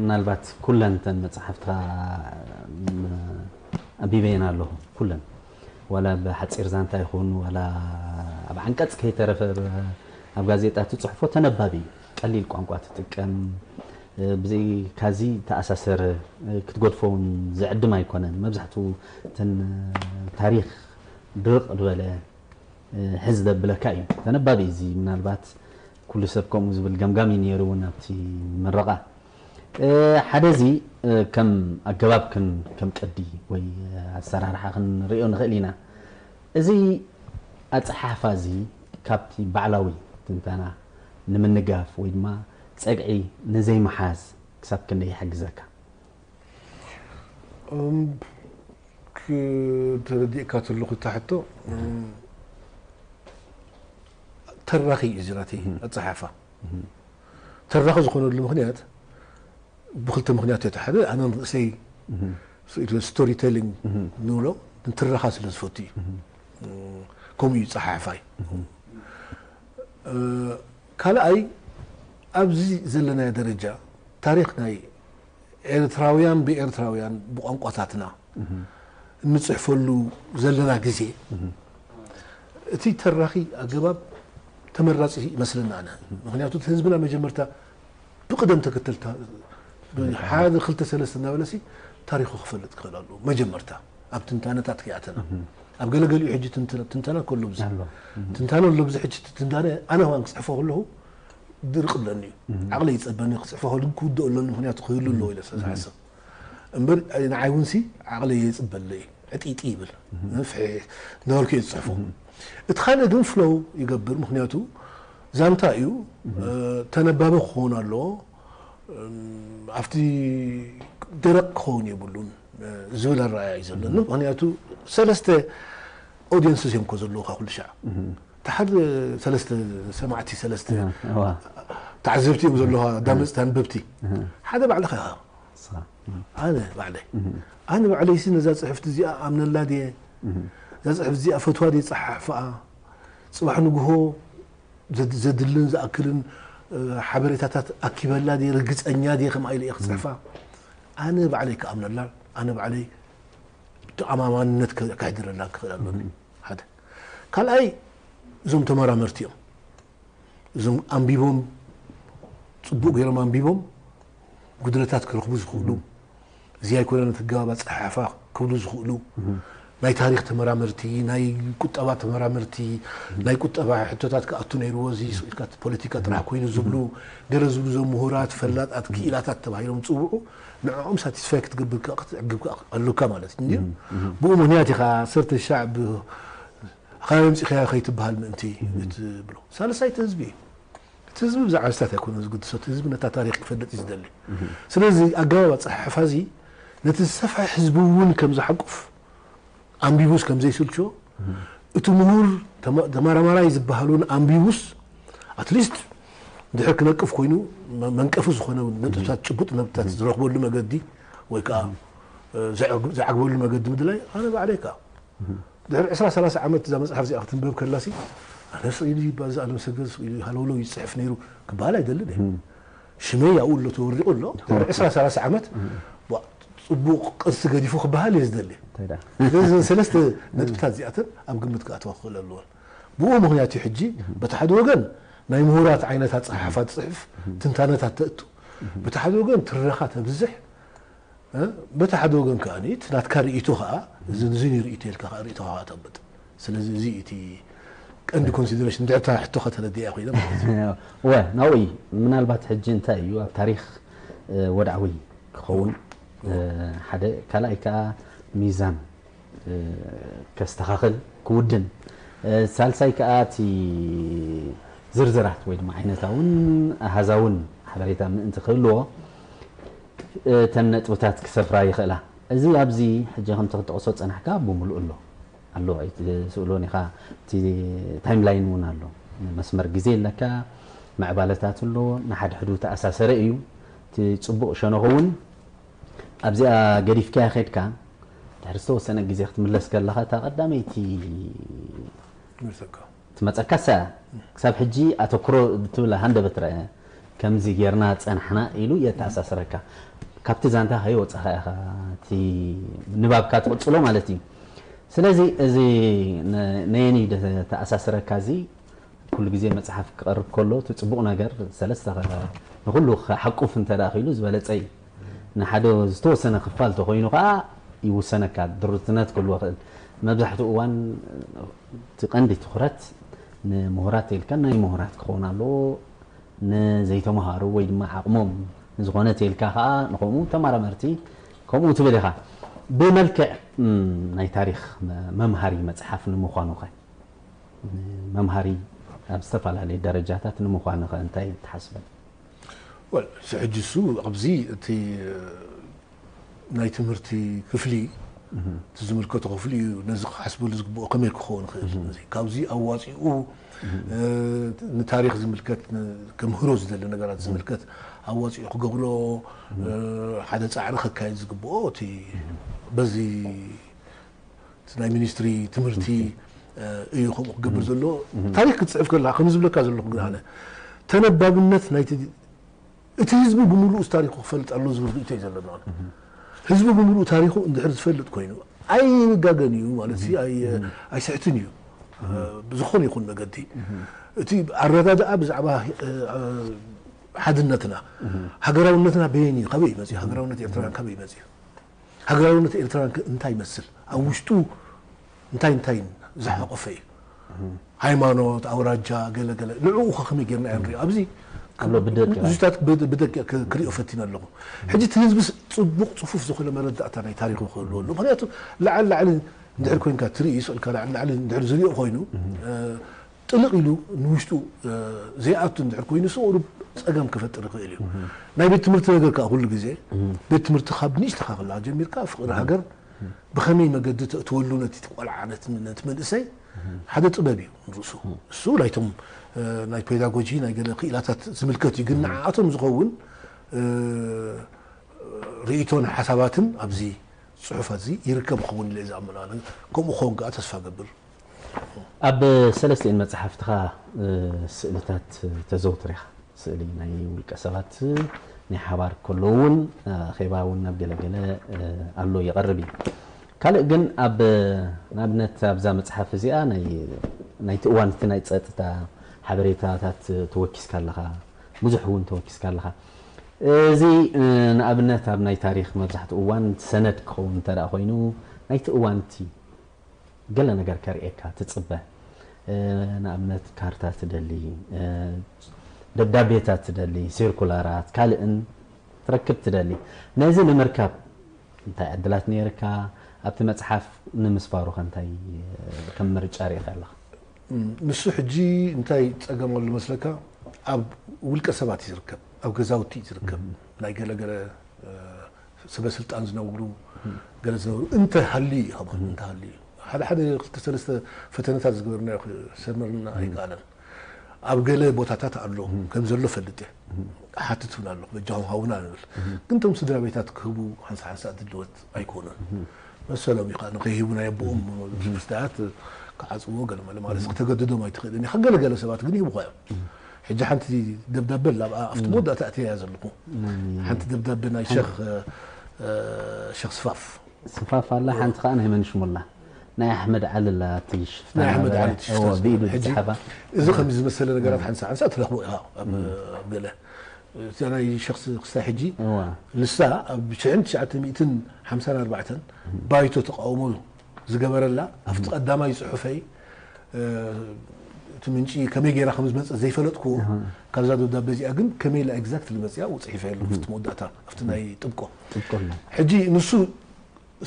ምናልባት ኩለን እተን መጽሓፍትኻ ኣንቢበየን ኣለኹ ኩለን ዋላ ብሓጺር ዛንታ ይኹን ዋላ ኣብ ዓንቀጽ ከይተረፈ ኣብ ጋዜጣ ትጽሕፎ ተነባቢ እዩ ቀሊል ቋንቋ ትጥቀም ብዘይካዚ ተኣሳሰረ ክትገድፎ እውን ዝዕድም ኣይኮነን መብዛሕትኡ እተን ታሪኽ ድርቕ ዝበለ ሕዚ ዘብለካ እዩ ተነባቢ እዚ ምናልባት ኩሉ ሰብ ከምኡ ዝብል ገምጋም እዩ ነይሩ እውን ኣብቲ ምረቓ ሓደ እዚ ከም ኣገባብክን ከም ቅዲ ወይ ኣሰራርሓ ክንሪኦ ንኽእል ኢና እዚ ኣፀሓሕፋ እዚ ካብቲ ባዕላዊ ትንተና ንምንጋፍ ወይ ድማ ፀግዒ ንዘይምሓዝ ክሳብ ክንደይ ይሕግዘካ? እም፣ ክተረዲእካ ተለኹ እታ ሕቶ፣ እም፣ ተራኺ እዩ ዝራተይ ኣፀሓሕፋ። ተራኺ ዝኾነሉ ምኽንያት ብክልተ ምኽንያት እዩ። እቲ ሓደ ኣነ ንርእሰይ ስቶሪ ቴሊንግ ንብሎ ንትረኻ ስለ ዝፈቱ እዩ። ከምኡ እዩ ፀሓሕፋይ። ካልኣይ ኣብዚ ዘለናዮ ደረጃ ታሪኽ ናይ ኤርትራውያን ብኤርትራውያን ብቋንቋታትና እንፅሕፈሉ ዘለና ግዜ እቲ ተራኺ ኣገባብ ተመራፂ ይመስለና ኣነ። ምክንያቱ እቲ ህዝብና መጀመርታ ብቅደም ተከተል ሓደ ክልተ ሰለስተ እናበለሲ ታሪኹ ክፈልጥ ክኽእል ኣለዎ። መጀመርታ ኣብ ትንታነታት ክይኣተና ኣብ ገለገሊኡ ሕጂ ትንተና ከሎ ብዙ ትንታነ ኣሎ። ብዙ ሕጂ ትንታነ ኣነ ዋን ክፅሕፎ ከለኹ ድርቅ ብለኒ እዩ። ዓቕለ ይፀበኒ ክፅሕፎ ከሉ ክውድኦ ኣለኒ ምክንያቱ ክህሉ ኣለዎ ኢለ ስለዝሓስብ እምበር ንዓይ እውን ሲ ዓቕለ የፅበለ እዩ። ዕጢጢ ይብል ፍሕ እንዳበልኩ እየ ዝፅሕፎ። እቲ ካልእ ግን ፍሎው ይገብር ምክንያቱ ዛንታ እዩ። ተነባቢ ክኸውን ኣለዎ። ኣብቲ ደረቕ ክኸውን የብሉን ዝብል ኣረኣያ እዩ ዘለኒ። ምክንያቱ ሰለስተ ኦዲየንስስ እዮም እኮ ዘለውካ ኩሉ ሻዕ። እቲ ሓደ ሰለስተ ሰማዕቲ ሰለስተ ተዓዘብቲ እዮም ዘለውካ ኣዳመፅቲ ኣንበብቲ። ሓደ ባዕልኻ ኢኻ። ኣነ ባዕለይ ኣነ ባዕለይሲ ነዛ ፅሕፍቲ እዚኣ ኣምነላ ድየ? እዛ ፅሕፍቲ እዚኣ ፈትዋ ድየ ፀሓሕፍኣ? ፅባሕ ንግሆ ዘድልን ዝኣክልን ሓበሬታታት ኣኪበላ ድየ? ርግፀኛ ድየ ከምኣ ኢለ እየ ክፅሕፋ? ኣነ ባዕለይ ክኣምነላ ኣነ ባዕለይ ተኣማማንነት ከሕድረላ ክኽእል ኣለኒ። ሓደ ካልኣይ እዞም ተመራመርቲ እዮም። እዞም ኣንቢቦም ፅቡቅ ገይሮም ኣንቢቦም ጉድለታት ክረኽቡ ዝኽእሉ እዚ ኣይኮነን እቲ ኣገባብ ኣፀሓሕፋ ክብሉ ዝኽእሉ ናይ ታሪክ ተመራመርቲ፣ ናይ ቁጠባ ተመራመርቲ፣ ናይ ቁጠባ ሕቶታት ክኣቱ ነይርዎ እዚ ስኢልካ ፖለቲካ ጥራሕ ኮይኑ ዝብሉ ገለ ዝብሉ እዞም ምሁራት ፈላጣት ክኢላታት ተባሂሎም ዝፅውዑ ንዕኦም ሳቲስፋይ ክትገብር ክትዕግብ ኣለካ ማለት እዩ። ብኡ ምክንያት ኢኻ ዓሰርተ ሻዕ ካብ ኣምፂኻዮ ከይትበሃል ምእንቲ ትብሎ። ሳልሳይ እቲ ህዝቢ እዩ። እቲ ህዝቢ ብዛዕባ ስታት ኣይኮነን ዝግድሶ። እቲ ህዝቢ ነታ ታሪክ ክፈልጥ እዩ ዝደሊ። ስለዚ ኣገባብ ኣፀሓሕፋ እዚ ነቲ ዝሰፍሐ ህዝቢ እውን ከም ዝሓቁፍ ኣንቢቡስ ከም ዘይስልችዎ እቲ ምሁር ተመራማራይ ዝበሃል እውን ኣንቢቡስ ኣትሊስት ድሕር ክነቅፍ ኮይኑ መንቀፊ ዝኾነ ነጥብታት ጭቡጥ ነጥብታት ዝረኽበሉ መገዲ ወይ ከዓ ዝዓግበሉ መገዲ ምድላይ ኣነ ባዕለይ ከዓ ድሕሪ ዕስራ ሰላሳ ዓመት እዛ መፅሓፍ እዚኣ ክትንበብ ከላሲ ኣነ ስኢሉ ይባል ዝኣለም ሰገድ ስኢሉ ሃለውለው ይፅሕፍ ነይሩ ክበሃል ኣይደልን እየ። ሽመይ ኣብኡ ኣሎ ተወሪቑ ኣሎ ድሕሪ ዕስራ ሰላሳ ዓመት ጽቡቕ ቅርሲ ገዲፉ ክበሃል እየ ዝደሊ። ስለዚ ሰለስተ ነጥብታት እዚኣተን ኣብ ግምት ክኣትዋ ክኽእል ኣለዎን። ብኡ ምክንያት እዩ ሕጂ በቲ ሓደ ወገን ናይ ምሁራት ዓይነት ኣፀሓሕፋ ትፅሕፍ ትንታነታት ተእቱ፣ በቲ ሓደ ወገን ትረኻ ተብዝሕ በቲ ሓደ ወገን ከዓ እቲ ናትካ ርእይቶ ከዓ እዚ ንዚ ርእይቶ ኢልካ ከዓ ርእይቶ ከዓ ተብጥ። ስለዚ እዚ እቲ ቀንዲ ኮንሲደሬሽን ድሕርታ ሕቶኻ ተረዲያ ኮይነ ማለት እዩ። ወ ናብኡ እዩ። ምናልባት ሕጂ እንታይ እዩ ኣብ ታሪክ ወድዓዊ ክኸውን ሓደ ካልኣይ ከዓ ሚዛን ከስተኻኽል ክውድን ሳልሳይ ከዓ እቲ ዝርዝራት ወይ ድማ ዓይነታውን ኣሃዛውን ሓበሬታ ምእንቲ ክህልዎ እተን ነጥብታት ክሰፍራ ይኽእላ። እዚ ኣብዚ ሕጂ ከምቲ ክትጠቕሶ ዝጸናሕካ ብምሉእ ኣሎ ኣሎ ኣይትስእሎን ኢኻ። እቲ ታይም ላይን እውን ኣሎ፣ መስመር ግዜ ኣለካ፣ ምዕባለታት ኣሎ፣ ንሓድሕዱ ተኣሳሰረ እዩ። እቲ ጽቡቕ ሸነኹ እውን ኣብዚኣ ገዲፍካያ ኸድካ ድሕሪ ዝተወሰነ ግዜ ክትምለስ ከለኻ እታ ቀዳመይቲ ትመፀካ እሳ ክሳብ ሕጂ ኣተኩሮ ብትብል ሃንደበት ረአ ከምዚ ጌርና ፀናሕና ኢሉ የተኣሳስረካ። ካብቲ ዛንታ ከይወፃኻ ኢኻ እቲ ንባብካ ትቕፅሎ ማለት እዩ። ስለዚ እዚ ነየኒ ተኣሳስረካ እዚ ኩሉ ግዜ መፅሓፍ ክቐርብ ከሎ እቲ ፅቡቕ ነገር ሰለስተ ንኩሉ ክሓቁፍ እንተ ክኢሉ ዝበለፀ እዩ። ንሓደ ዝተወሰነ ክፋል ተኮይኑ ከዓ ይውሰነካ ድርትነት ክህልዎ ክእል። መብዛሕትኡ እዋን እቲ ቀንዲ ትኩረት ንምሁራት ኢልካ ናይ ምሁራት ክኸውን ኣለዎ። ንዘይተምሃሩ ወይ ድማ ዓቕሞም ዝኾነ ተልካ ከዓ ንከምኡ ተመራመርቲ ከምኡ ትብል ኢኻ። ብመልክዕ ናይ ታሪክ መምሃሪ መፅሓፍ ንምኳኑ ከ መምሃሪ ኣብ ዝተፈላለዩ ደረጃታት ንምኳኑ ከ እንታይ ትሓስበን? ወል፣ እዚ ሕጂ እሱ ኣብዚ እቲ ናይ ትምህርቲ ክፍሊ፣ እቲ ዝምልከቶ ክፍሊ እዩ ነዚ ክሓስበሉ ዝግብኦ ከመይ ክኸውን ይኽእል። እዚ ካብዚ ኣዋፂኡ፣ እ፣ ንታሪኽ ዝምልከት፣ ን-፣ ከምህሮ ዝደሊ ነገራት ዝምልከት ኣዋፂኡ ክገብሮ፣ እ፣ ሓደ ፃዕሪ ከካየድ ዝግብኦ እቲ በዚ እቲ ናይ ሚኒስትሪ ትምህርቲ፣ እ፣ እዩ ከምኡ ክገብር ዘሎ። ታሪኽ ክትፅሕፍ ከለካ ከም ዝብለካ ዘለኹ ግን ኣነ ተነባብነት ናይቲ እቲ ህዝቢ ብምሉኡ ታሪኹ ክፈልጥ ኣሎ ዝብል ርእይቶ እዩ ዘለና። ህዝቢ ብምሉኡ ታሪኹ እንድሕር ዝፈልጥ ኮይኑ ኣይጋገን እዩ ማለት ሲ ኣይ-፣ ኣይስሕትን እዩ። ብዝኾነ ይኹን መገዲ እቲ ኣረዳድኣ ብዛዕባ፣ እ፣ ሓድነትና፣ ሃገራውነትና በየን እዩ፣ ካበይ እዩ መፅዩ? ሃገራውነት ኤርትራ ካበይ እዩ መፅዩ? ሃገራውነት ኤርትራ ከ እንታይ ይመስል? ኣብ ውሽጡ እንታይ እንታይ ዝሓቆፈ እዩ? ሃይማኖት፣ ኣውራጃ፣ ገለ ገለ። ንዕኡ ከ ከመይ ጌርና ኢና ንሪኦ? ኣብዚ ኣሎ ብደቂቕ። እዚታት ብደ-፣ ብደቂቕ ክ-፣ ክሪኦ ፈቲነ ኣለኹ። ሕጂ እቲ ህዝቢ ስ-፣ ጽቡቕ ጽፉፍ ዝኾነ መረዳእታ ናይ ታሪኹ ክህልዎ ኣለዎ። ምኽንያቱ ላዕሊ ላዕሊ እንድሕር ኮይንካ ትርኢ፣ ስእልካ ላዕሊ ላዕሊ እንድሕር ዝሪኦ ኮይኑ፣ እ፣ ጥልቕ ኢሉ ንውሽጡ፣ እ፣ ዘይኣቱ እንድሕር ኮይኑ፣ ስቕ ኢሉ ጸገም ክፈጥር ይኽእል እዩ። ናይ ቤት ትምህርቲ ነገር ከኣ ኩሉ ግዜ፣ ቤት ትምህርቲ ካብ ንእሽተኻ ከለኻ ጀሚርካ ፍቕሪ ሃገር ብኸመይ መገዲ ተእትወሉ ነቲ ቆልዓ፣ ነቲ፣ ነቲ መንእሰይ ሓደ ጥበብ እዩ ንርእሱ። እሱ ናይቶም፣ እ፣ ናይ ፔዳጎጂ ናይ ገለ ክኢላታት ዝምልከት እዩ፣ ግን ንዓኣቶም ዝኸውን፣ እ፣ ርእይቶን ሓሳባትን ኣብዚ ጽሑፋት እዚ ይርከብ ክኸውን ኢለ ዝኣምን ኣነ። ከምኡ ክኸውን ከኣ ተስፋ ገብር። ኣብ ሰለስቲኤን መጽሓፍትኻ፣ እ፣ ስእልታት ተዘውትር ኢኻ። ስእሊ ናይ ውልቀ ሰባት ናይ ሓባር ከሎ እውን፣ እ፣ ኣኼባ እውን ናብ ገለገለ፣ እ፣ ኣሎ ይቐርብ እዩ። ካልእ ግን ኣብ፣ ንኣብነት ኣብዛ መጽሓፍ እዚኣ ናይ፣ ናይቲ እዋን እቲ ናይ ጸጥታ ሓበሬታታት ተወኪስካ ኣለኻ፣ ብዙሕ እውን ተወኪስካ ኣለኻ። እዚ፣ እ፣ ንኣብነት ኣብ ናይ ታሪኽ መብዛሕትኡ እዋን ሰነድ ክኸውን እንተ ደኣ ኮይኑ ናይቲ እዋን እቲ ገለ ነገር ከርእየካ ትጽበ። እ፣ ንኣብነት ካርታ ትደሊ፣ እ፣ ደብዳቤታት ትደሊ፣ ሲርኩላራት፣ ካልእን ትረክብ ትደሊ። ነዚ ንምርካብ እንታይ ዕድላት ነይርካ? ኣብቲ መጽሓፍ ንምስፋሩ ከ እንታይ፣ እ፣ ከም ምርጫ ርኢኻ ኣለኻ? እም፣ ንሱ ሕጂ እንታይ ጸገም ኣሎ መስለካ? ኣብ ውልቀ ሰባት እዩ ዝርከብ፣ ኣብ ገዛውቲ እዩ ዝርከብ። ናይ ገለ ገለ፣ እ፣ ሰበ ስልጣን ዝነብሩ፣ ገለ ዝነብሩ እንተ ሃልዩ እዩ፣ ከማን እንተ ሃልዩ እዩ። ሓደ ሓደ ክልተ ሰለስተ ፈተነታት ዝገበርናዮ ክሰምረልና ኣይከኣለን። ኣብ ገለ ቦታታት ኣሎ፣ ከም ዘሎ ፈልጥ እየ። እሓትት እውን ኣለኹ፣ በጃኹም ሃቡና ንብል። ግን እቶም ስድራ ቤታት ክህቡ ሓንሳ ሓንሳ ድልወት ኣይኮኑን። መሰሎም እዩ፣ ከዓ ንኸይህቡ ናይ ኣቦኦም ምስዳያት ክዓጽዎ ገለ መለ ማለት፣ ክተገድዶም ኣይትኽእልን ኢኻ። ገለ ገለ ሰባት ግን ይህቡኻ እዮም። ሕጂ ሓንቲ ደብዳበ ኣላ፣ ኣብኣ ኣብቲ መወዳእታ ኣእትየያ ዘለኹ። ናይ ሓንቲ ደብዳበ ናይ ሸኽ፣ እ፣ ሸኽ ስፋፍ። ስፋፍ ኣላ፣ ሓንቲ ከዓ ናይ መን ሽሙ ኣላ? ናይ ኣሕመድ ዓሊ ኣላ፣ እቲ ሽፍታ ናይ ኣሕመድ ነበረ። ዓሊ እቲ ሽፍታ እዎ፣ ዝነበረ። ብኢዱ ሕጂ ዝጸሓፋ። እዚ ከምዚ ዝመሰለ ነገራት ሓንሳ ሓንሳ ትረኽቦ ኢኻ ኣብ፣ ኣብ ገለ። እዛ ናይ ሸኽ ስ-፣ ክስታይ ሕጂ እዋ። ንሳ ኣብ ሽሕን ትሽዓተ ሚእትን ሓምሳን ኣርባዕተን ባይቶ ተቃውሞ ዝገበረላ፣ ኣብቲ ቀዳማይ ጽሑፈይ፣ እ፣ እቲ ምንጪ ከመይ ጌራ ከም ዝመጸት ዘይፈለጥኩዎ፣ እህ። ካብዛ ደብዳበ እዚኣ ግን ከመይ ኢላ ኤግዛክትሊ መጺኣ ኣብኡ ጽሒፈ ኣለኹ፣ ኣብቲ መወዳእታ፣ ኣብቲ ናይ ጥብቆ። ጥብቆ ኣሎ። ሕጂ ንሱ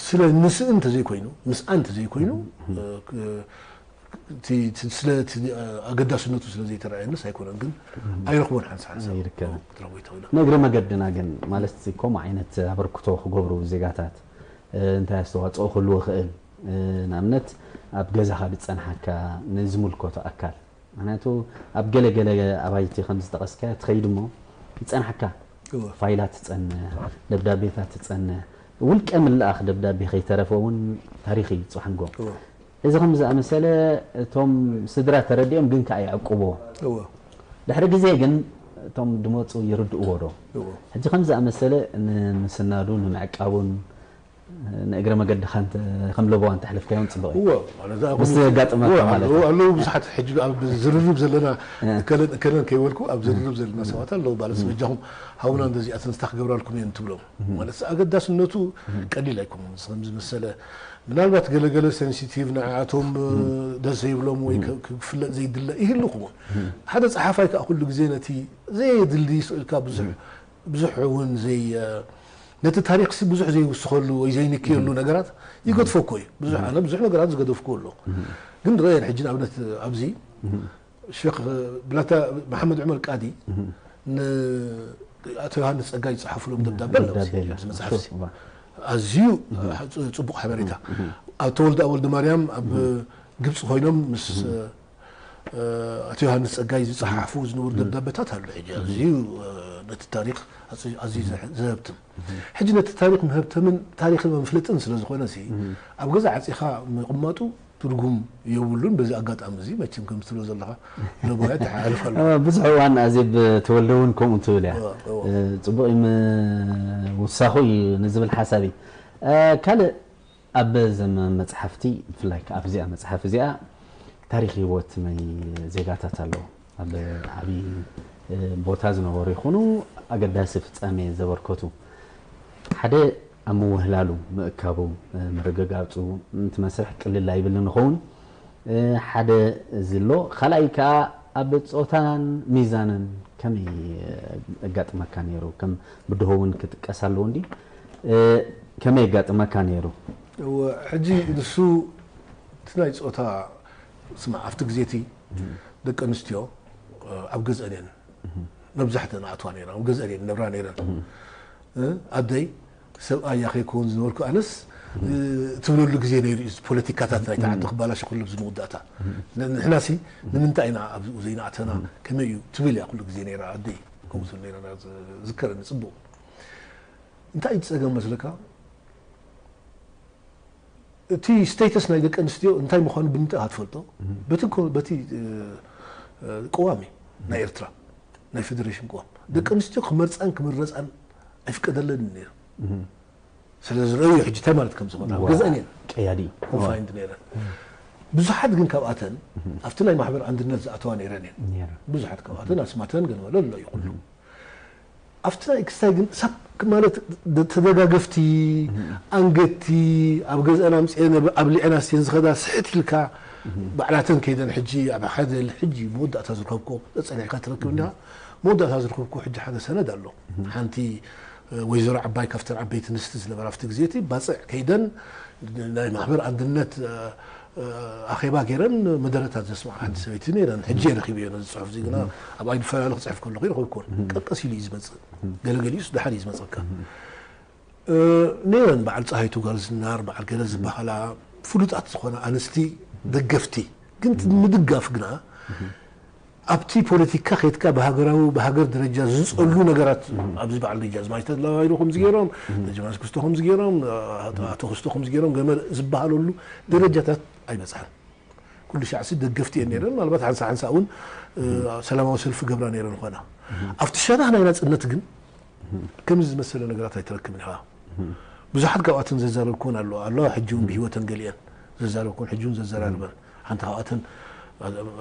ስለ ንስእን እንተዘይኮይኑ፣ ምስኣን እንተዘይኮይኑ፣ እህ። እ፣ ክ-፣ እቲ፣ እቲ ስለ እቲ ኣገዳስነቱ ስለ ዘይተረኣየንስ ኣይኮነን፣ ግን ኣይረኽቦን ሓንሳ ሓንሳ ኣይርከብን። ክትረኽቦ ይትኽእል። ንእግረ መገድና ግን፣ ማለት ከምኡ ዓይነት ኣበርክቶ ክገብሩ ዜጋታት፣ እ፣ እንታይ ኣስተዋጽኦ ክህልዎ ይኽእል? እ፣ ንኣብነት ኣብ ገዛኻ ዝጸንሓካ ንዝምልከቶ ኣካል፣ ምኽንያቱ ኣብ ገለ ገለ ኣባይቲ ከም ዝጠቐስካዮ ትኸይድ እሞ ይጸንሓካ። እወ። ፋይላት ትጸንሕ፣ ደብዳቤታት ትጸንሕ፣ ውልቀ ምላኣኽ ደብዳቤ ከይተረፈ እውን ታሪኽ እዩ ጽባሕ ንግሆ። እወ። እዚ ከም ዝኣመሰለ እቶም ስድራ ተረዲኦም ግን ከኣ ይዕቅብዎ። እወ። ድሕሪ ግዜ ግን እቶም ድመጹ ይርድእዎ ዶ? እወ። ሕጂ ከም ዝኣመሰለ ንምስናዱ ንምዕቃቡን ንእግረ መገድኻ እንተ-፣ ከም ለበዋ እንተሕለፍካዮም ጽቡቕ እዩ። እወ፣ ማለት ኣብ ምስ ዘጋጥመካ እወ፣ ማለት ኣለዉ፣ እዩ። ኣለዉ ብዙሓት ሕጂ ኣብ ዝርርብ ዘለና እ። እከለን፣ እከለን ከይበልኩ ኣብ ዝርርብ ዘለና ሰባት ኣለዉ። ማለት እ። በጃኹም ሃቡና እንደዚኣተን ዝታ ክገብራልኩም እየን ትብሎም። እ። ማለት ኣገዳስነቱ እ። ቀሊል ኣይኮነን። ከም ዝመሰለ ምናልባት ገለገለ ሴንሲቲቭ ንዓኣቶም እ። ደስ ዘይብሎም ወይ እ። ከ-፣ ክፍለጥ ዘይድለ ይህሉ ክውን። እ። ሓደ ጸሓፋይ ከኣ ኩሉ ግዜ ነቲ ዘየድሊ ስእልካ ብዙሕ እ። ብዙሕ እውን ዘይ-፣ ነቲ ታሪኽሲ ብዙሕ ዘይውስኸሉ ወይ ዘይንክየሉ እህ። ነገራት ይገድፎ እኮ እዩ። ብዙሕ፣ እህ። ኣነ ብዙሕ ነገራት ዝገደፍኩ ኣሎ። እህ። ግን ርአየን ሕጂ ንኣብነት ኣብዚ እህ። ሸኽ ብላታ መሓመድ ዑመር ቃዲ እህ። ን-፣ ኣቶ ዮሃንስ ጸጋይ ዝጸሓፉሎም ደብዳበ ኣሎ። ደብዳበ የለ። ኣብዚ መጽሓፍ እዚ እዋ። ኣዝዩ ጽ- ጽቡቕ ሓበሬታ። ኣብ ተወልደ ወልደ ማርያም ኣብ ግብጺ ኮይኖም ምስ ኣቶ ዮሃንስ ጸጋይ ዝጸሓፉ ዝነበሩ ደብዳበታት ኣሎ። ሕጂ ኣዝዩ ነቲ ታሪኽ ኣዝ- ኣዝዩ ዘህ- ዘህብትም። ሕጂ ነቲ ታሪኽ መህብተምን ታሪኽን መፍለጥን ስለ ዝኾነ ሲ ኣብ ገዛ ዓጺኻ ምቕማጡ ትርጉም የብሉን። በዚ ኣጋጣሚ እዚ መቸም ከም ትብሎ ዘለኻ ለቦያ ተሓልፍ ኣሎ። ብዙሕ እዋን ኣዜብ ተወልደ እውን ከምኡ ትብል እያ። እዋ፣ እዋ። ጽቡቕ እዩ ምውሳኹ እዩ ንዝብል ሓሳብ እዩ። ካልእ ኣብ ዘም መጽሓፍቲ ብፍላይ ኣብዚኣ መጽሓፍ እዚኣ ታሪኽ ህይወት ናይ ዜጋታት ኣለዉ። ኣብ ዓብዪ ቦታ ዝነበሩ ይኹኑ ኣገዳሲ ፍጻሜ ዘበርከቱ ሓደ ኣብ ምውህላሉ ምእካቡ ምርግጋጹ እቲ መስርሕ ቅልል ኣይብልን ይኸውን። ሓደ እዚ ኣሎ። ካልኣይ ከዓ ኣብ ጾታን ሚዛንን ከመይ ኣጋጥመካ ነይሩ? ከም ብድሆ እውን ክጥቀስ ኣለዎ እንዲ ከመይ ኣጋጥመካ ነይሩ? እወ፣ ሕጂ ንሱ እቲ ናይ ጾታ ስማዕ ኣብቲ ግዜ እቲ ደቂ ኣንስትዮ ኣብ ገዝአን እየን መብዛሕተን ኣትዋ ነይረን ኣብ ገዝአን እየን ነብራ ነይረን። ኣደይ ሰብኣያ ከይከውን ዝነበርኩ ኣነስ ትብለሉ ግዜ ነይሩ እዩ። ፖለቲካታት ናይታ ዓዲ ክባላሽ ኩሉ ኣብዚ መወዳእታ ንሕናሲ ንምንታይ ኢና ኣብኡ ዘይናእተና ከመይ እዩ ትብል እያ ኩሉ ግዜ ነይራ ኣደይ። ከምኡ ትብል ነይራ ዝከረኒ ጽቡቕ። እንታይ እዩ ጸገም መስለካ? እቲ ስቴተስ ናይ ደቂ ኣንስትዮ እንታይ ምዃኑ ብምንታይ ኢኻ ትፈልጦ? በቲ ኮ- በቲ እ፣ እ፣ ቅዋም እዩ ናይ ኤርትራ ናይ ፌደሬሽን ቅዋም። ደቂ ኣንስትዮ ክመርጻን ክምረጻን ኣይፍቀደለንን ነይሩ። ስለ ዝረኣዩ ሕጂ እንታይ ማለት ከም ዝኾነ ኣብ ገዝአን እየን ቀያዲ ኮንፋይንድ ነይረን። ብዙሓት ግን ካብኣተን ኣብቲ ናይ ማሕበር ኣንድነት ዝኣተዋ ነይረን እየን። ነይረን። ብዙሓት ካብኣተን ኣስማተን ገለ መለ ኣሎ እዩ ኩሉ። ኣብቲ ናይ ክስታይ ግን ሰብ ማለት ተደጋገፍቲ ኣንገድቲ ኣብ ገዝአን ኣምፅአን ኣብ ሊዐን ኣስትየን ዝኸዳ ስሕት ኢልካ ባዕላተን ከይደን ሕጂ ኣብ ሓደ ሕጂ መወዳእታ ዝረከብኮ ጸኒሕካ ትረክብ እንዲኻ። መወዳእታ ዝረከብኮ ሕጂ ሓደ ሰነድ ኣሎ። ሓንቲ ወይዘሮ ዓባይ ካብተን ዓበይቲ ንስቲ ዝነበራ ኣብቲ ግዜ እቲ ባፅዕ ከይደን ናይ ማሕበር ኣንድነት ኣኼባ ገይረን መደረታት ዘስምዓ ሓንቲ ሰበይቲ ነይረን። ሕጂ እየ ረኺበዮ ነዚ ፅሑፍ እዚ ግና ኣብ ኣይዲ ፈላሊ ክፅሕፍ ከለኹ ይረኸብኩወን። ቀቀስ ኢሉ እዩ ዝመፅእ። ገለገሊኡስ ደሓር እዩ ዝመፀካ። ነይረን በዓል ፀሃይቱ ጓል ዝናር በዓል ገለ ዝበሃላ ፍሉጣት ዝኾና ኣንስቲ ደገፍቲ ግን ምድጋፍ ግና ኣብቲ ፖለቲካ ከይትካ ብሃገራዊ ብሃገር ደረጃ ዝፀሉ ነገራት ኣብዚ በዓል ደጃዝማች ተድላ ባይሩ ከምዚ ገይሮም ደጃዝማች ክስቶ ከምዚ ገይሮም ኣቶ ክስቶ ከምዚ ገይሮም ገመ ዝበሃለሉ ደረጃታት ኣይበፅሐን። ኩሉ ሻዕሲ ደገፍቲ እየን ነይረን። ምናልባት ሓንሳ ሓንሳ እውን ሰላማዊ ሰልፊ ገብራ ነይረን ኾና ኣብቲ ሸነኽ ናይ ናፅነት ግን ከምዚ ዝመሰለ ነገራት ኣይትረክብን ኢኻ። ብዙሓት ካብኣተን ዘዛረብኩን ኣለዋ ኣለዋ ሕጂ እውን ብህይወተን ገሊአን ዘዛረብኩን ሕጂ እውን ዘዘራርበን ሓንቲ ካብኣተን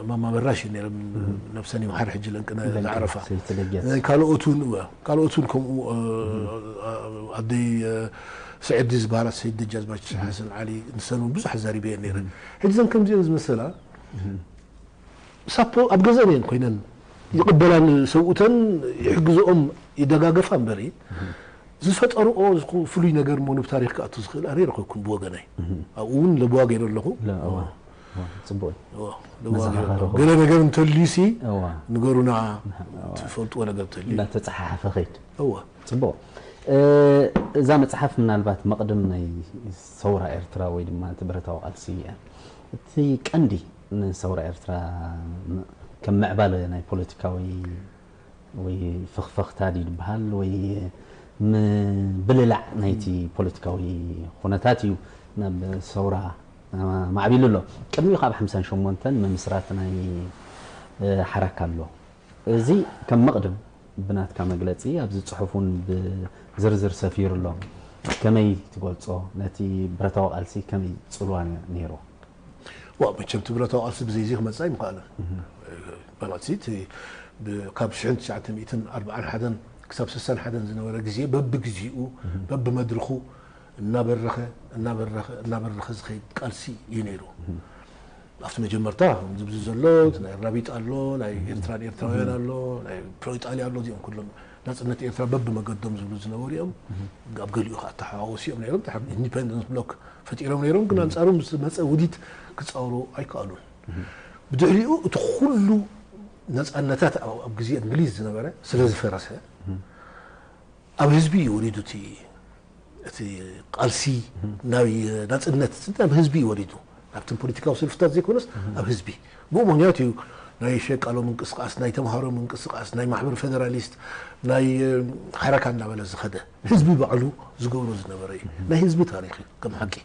ማማ በራሽ ነይረ ነብሰን ይምሓር ሕጂ ለንቅነ ዝዓረፋ ካልኦት እውን እወ ካልኦት እውን ከምኡ ኣደይ ስዕዲ ዝበሃላ ሰይድ ደጃዝማች ሓሰን ዓሊ ንሰን እውን ብዙሕ ኣዛሪበየን ነይረ ሕጂ ዘን ከምዚአን ዝመሰላ ሳፖ ኣብ ገዘን እየን ኮይነን ይቕበላን ሰብኡተን ይሕግዝኦም ይደጋገፋ እምበሪ ዝፈጠርኦ ፍሉይ ነገር እሞ ንብ ታሪኽ ክኣቱ ዝኽእል ኣነ ይረኸብኩን ብወገነይ ኣብኡ እውን ለብዋ ገይረ ኣለኹ። ጽቡቅ ገለ ነገር እንተልዩሲ ንገሩና ትፈልጥዎ ነገር እንተልዩ እንዳተፀሓሓፈ ኸይድ። እዋ ጽቡቅ። እዛ መጽሓፍ ምናልባት መቕድም ናይ ሰውራ ኤርትራ ወይ ድማ እቲ ብረታዊ ቃልሲ እያ። እቲ ቀንዲ ንሰውራ ኤርትራ ከም ምዕባለ ናይ ፖለቲካዊ ወይ ፍኽፈኽታ ድዩ ዝበሃል ወይ ምብልላዕ ናይቲ ፖለቲካዊ ኩነታት እዩ ናብ ሰውራ ማዕቢሉ ኣሎ። ቅድሚኡ ካብ ሓምሳን ሸሞንተን ምምስራት ናይ ሓራካ ኣሎ። እዚ ከም መቕድም ብናትካ መግለጺ ኣብዚ ጽሑፍ እውን ብዝርዝር ሰፊሩ ኣሎ። ከመይ ትገልጾ ነቲ ብረታዊ ቃልሲ ከመይ ጽልዋ ነይሩ? ዋ መቸም እቲ ብረታዊ ቃልሲ ብዘይዚ ክመጽእ ኣይምኽኣለን። ማለት እቲ ካብ ሽሕን ትሽዓተ ሚእትን ኣርብዓን ሓደን ክሳብ ስሳን ሓደን ዝነበረ ግዜ በብግዚኡ በብመድርኹ እናበረኸ እናበረኸ እናበረኸ ዝኸይድ ቃልሲ እዩ ነይሩ። ኣብቲ መጀመርታ ዝብዚ ዘሎ ናይ ራቢጥ ኣሎ ናይ ኤርትራን ኤርትራውያን ኣሎ ናይ ፕሮ ኢጣልያ ኣሎ እዚኦም ኩሎም ናፅነት ኤርትራ በብመገዶም ዝብሉ ዝነበሩ እዮም። ኣብ ገሊኡ ከዓ ተሓዋወሱ እዮም ነይሮም። ኢንዲፐንደንስ ብሎክ ፈጢሮም ነይሮም ግን ኣንፃሩ ምስ መፀ ውዲት ክፃወሩ ኣይከኣሉን። ብድሕሪኡ እቲ ኩሉ ነፃነታት ኣብ ግዜ እንግሊዝ ዝነበረ ስለ ዝፈረሰ ኣብ ህዝቢ እዩ ወሪዱ እቲ እቲ ቃልሲ ናይ ናጽነት ናብ ህዝቢ እዩ ወሪዱ። ኣብቶም ፖለቲካዊ ሰልፍታት ዘይኮነስ ኣብ ህዝቢ። ብኡ ምክንያት እዩ ናይ ሸቃሎ ምንቅስቃስ፣ ናይ ተምሃሮ ምንቅስቃስ፣ ናይ ማሕበር ፌደራሊስት፣ ናይ ሓረካ እናበለ ዝኸደ ህዝቢ ባዕሉ ዝገብሮ ዝነበረ እዩ። ናይ ህዝቢ ታሪክ እዩ ከም ሓቂ።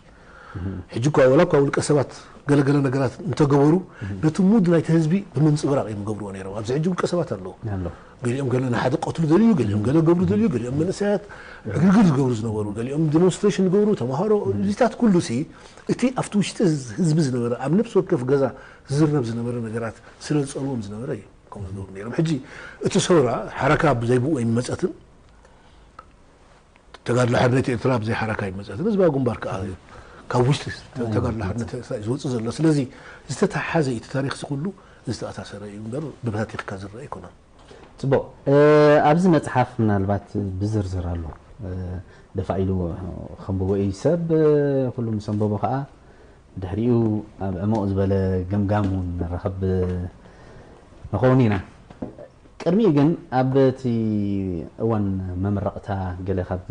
ሕጂ እኳ ወላ እኳ ውልቀ ሰባት ገለገለ ነገራት እንተገበሩ ነቲ ሙድ ናይቲ ህዝቢ ብምንፅብራቕ እዮም ገብርዎ ነይሮም። ኣብዚ ሕጂ ውልቀ ሰባት ኣለዉ። ኣሎ። ገሊኦም ገለ ንሓደ ቀትሉ ደልዩ፣ ገሊኦም ገለ ገብሩ ደልዩ፣ ገሊኦም መንእሰያት ዕግርግር ዝገብሩ ዝነበሩ፣ ገሊኦም ዲሞንስትሬሽን ዝገብሩ ተምሃሮ፣ እዚታት ኩሉ ሲ እቲ ኣብቲ ውሽጢ ህዝቢ ዝነበረ ኣብ ነፍሲ ወከፍ ገዛ ዝዝረብ ዝነበረ ነገራት ስለ ዝፀልዎም ዝነበረ እዩ ከምኡ ዝገብሩ ነይሮም። ሕጂ እቲ ሰውራ ሓረካ ብዘይብኡ ኣይመፀትን። ተጋድሎ ሓርነት ኤርትራ ብዘይ ሓረካ ኣይመፀትን። ህዝባዊ ግንባር ከዓ ካብ ውሽጢ ተጋድሎ ሓርነት ኤርትራ እዩ ዝወፅእ ዘሎ። ስለዚ ዝተተሓሓዘ እዩ እቲ ታሪክ እዚ ኩሉ ዝተኣሳሰረ እዩ እምበር ብበታቲኽካ ዝረአ ኣይኮነን። ጽቡቕ። ኣብዚ መጽሓፍ ምናልባት ብዝርዝር ኣሎ። ደፋ ኢሉ ከንብቦ እዩ ሰብ። ኩሉ ምስ ኣንበቦ ከኣ ድሕሪኡ ኣብ ዕሙቕ ዝበለ ገምጋም እውን ንራኸብ ንኸውን ኢና። ቅድሚኡ ግን ኣብ እቲ እዋን መመረቕታ ገለ ካብ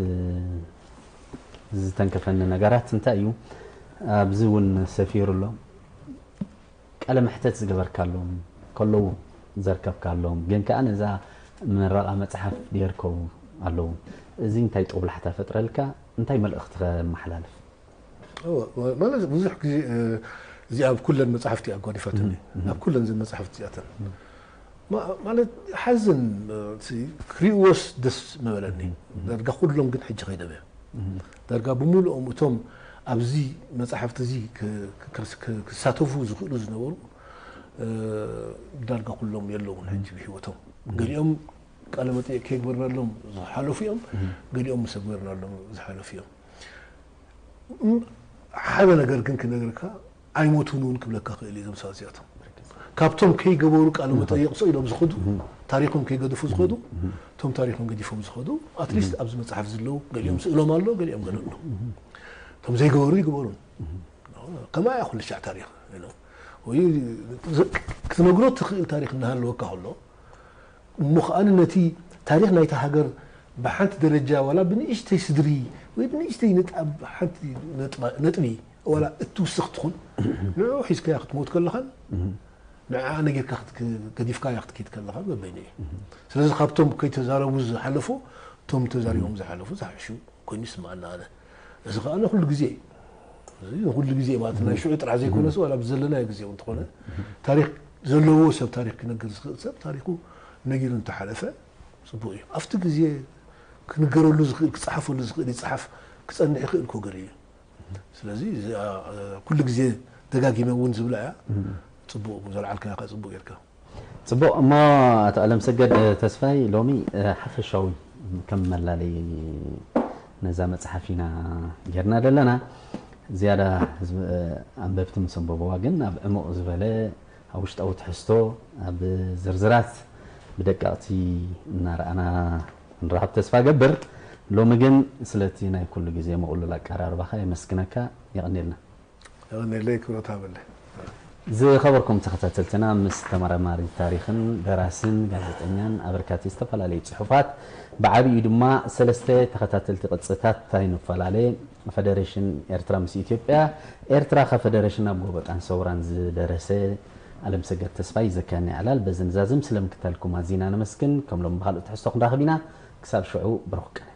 ዝተንከፈኒ ነገራት እንታይ እዩ? ኣብዚ እውን ሰፊሩ ኣሎ። ቃለ መሕተት ዝገበርካሎም ከለዉ ዘርከብካሎም ግን ከኣ ነዛ ምረቓ መጽሓፍ ድየርከቡ ኣለዉ። እዚ እንታይ ጦብላሕታ ፈጥረልካ? እንታይ መልእኽቲ ከመሓላልፍ? ማለት ብዙሕ ግዜ እዚኣ ኣብ ኩለን መጽሓፍቲ ኣጓዲፋትኒ ኣብ ኩለን እዘን መጽሓፍቲ እዚኣተን ማለት ሓዝን ክሪእዎስ ደስ ምበለኒ ዳርጋ ኩሎም ግን ሕጂ ከይደም እዮም ዳርጋ ብምሉኦም እቶም ኣብዚ መጽሓፍቲ እዚ ክሳተፉ ዝኽእሉ ዝነበሩ ዳርጋ ኩሎም የለውን ሕጂ ብህይወቶም ገሊኦም ቃለ መጠየቅ ከይግበርናሎም ዝሓለፉ እዮም ገሊኦም ምስ ኣግበርናሎም ዝሓለፉ እዮም ሓደ ነገር ግን ክነግርካ ኣይሞቱን እውን ክብለካ ክእል እዩ ዞም ሰባት እዚኣቶም ካብቶም ከይገበሩ ቃለ መጠየቅ ስኢሎም ዝኸዱ ታሪኮም ከይገድፉ ዝኸዱ እቶም ታሪኮም ገዲፎም ዝኸዱ ኣትሊስት ኣብዚ መፅሓፍ ዝለው ገሊኦም ስእሎም ኣሎ ገሊኦም ገለ ኣሎ እቶም ዘይገበሩ ይግበሩን ከማ እያ ኩሉ ሻዕ ታሪክ ወይ ክትነግሮ ትኽእል ታሪክ እናሃለወካ ከሎ እሞ ከኣ ነቲ ታሪክ ናይታ ሃገር ብሓንቲ ደረጃ ዋላ ብንእሽተይ ስድሪ ወይ ብንእሽተይ ንጣብ ሓንቲ ነጥቢ ዋላ እትውስኽ ትኹን ንዑ ሒዝካያ ክትሞት ከለኻን ንዓ ነጊርካ ገዲፍካያ ክትከይድ ከለኻ በበይኑ እዩ ስለዚ ካብቶም ከይተዛረቡ ዝሓለፉ እቶም ተዛሪቦም ዝሓለፉ ዝሓሹ ኮይኑ ይስምዓና ኣነ እዚ ከኣ ኩሉ ግዜ ኩሉ ግዜ ማለት ናይ ሽዑ ጥራሕ ዘይኮነስ ዋላ ብዘለናዮ ግዜ እውን ተኾነ ታሪክ ዘለዎ ሰብ ታሪክ ክነግር ዝኽእል ሰብ ታሪኩ ነጊሩ እንተሓለፈ ፅቡቅ እዩ ኣብቲ ግዜ ክንገረሉ ዝኽእል ክፀሓፈሉ ዝኽእል ይፅሓፍ ክፀንሕ ይኽእል ኮገር እዩ ስለዚ ኩሉ ግዜ ደጋጊመ እውን ዝብላ እያ ፅቡቅ ዘልዓልካ ካ ፅቡቅ ጌርካ ጽቡቕ እሞ ኣቶ ኣለምሰገድ ተስፋይ ሎሚ ሓፈሻዊ ከም መላለይ ነዛ መጽሓፍ ኢና ጌርና ዘለና ዝያዳ ኣንበብቲ ምስ ኣንበብዋ ግን ኣብ ዕሙቕ ዝበለ ኣብ ውሽጣዊ ትሕዝቶ ኣብ ዝርዝራት ብደቀቕቲ እናረኣና ንረኸብ ተስፋ ገብር ሎሚ ግን ስለቲ ናይ ኩሉ ግዜ ምቕሉል ኣቀራርባኻ የመስግነካ የቐንየልና ነለይ ክብረት ሃበለይ ዝኸበርኩም ተኸታተልትና ምስ ተመራማሪ ታሪኽን ደራስን ጋዜጠኛን ኣበርካቲ ዝተፈላለዩ ፅሑፋት ብዓብዩ ድማ ሰለስተ ተኸታተልቲ ቅፅታት ኣይንፈላለ ፈደሬሽን ኤርትራ ምስ ኢትዮጵያ ኤርትራ ከ ፈደሬሽን ኣብ ጎበጣን ሰውራን ዝደረሰ ኣለምሰገድ ተስፋይ ዘካኒ ዕላል በዚ ንዛዝም ስለምክታልኩም ኣዚና ነመስግን ከም ሎም ብካልእ ትሕዝቶ ክንራኽብ ኢና ክሳብ ሽዑ ብሩክ ቀን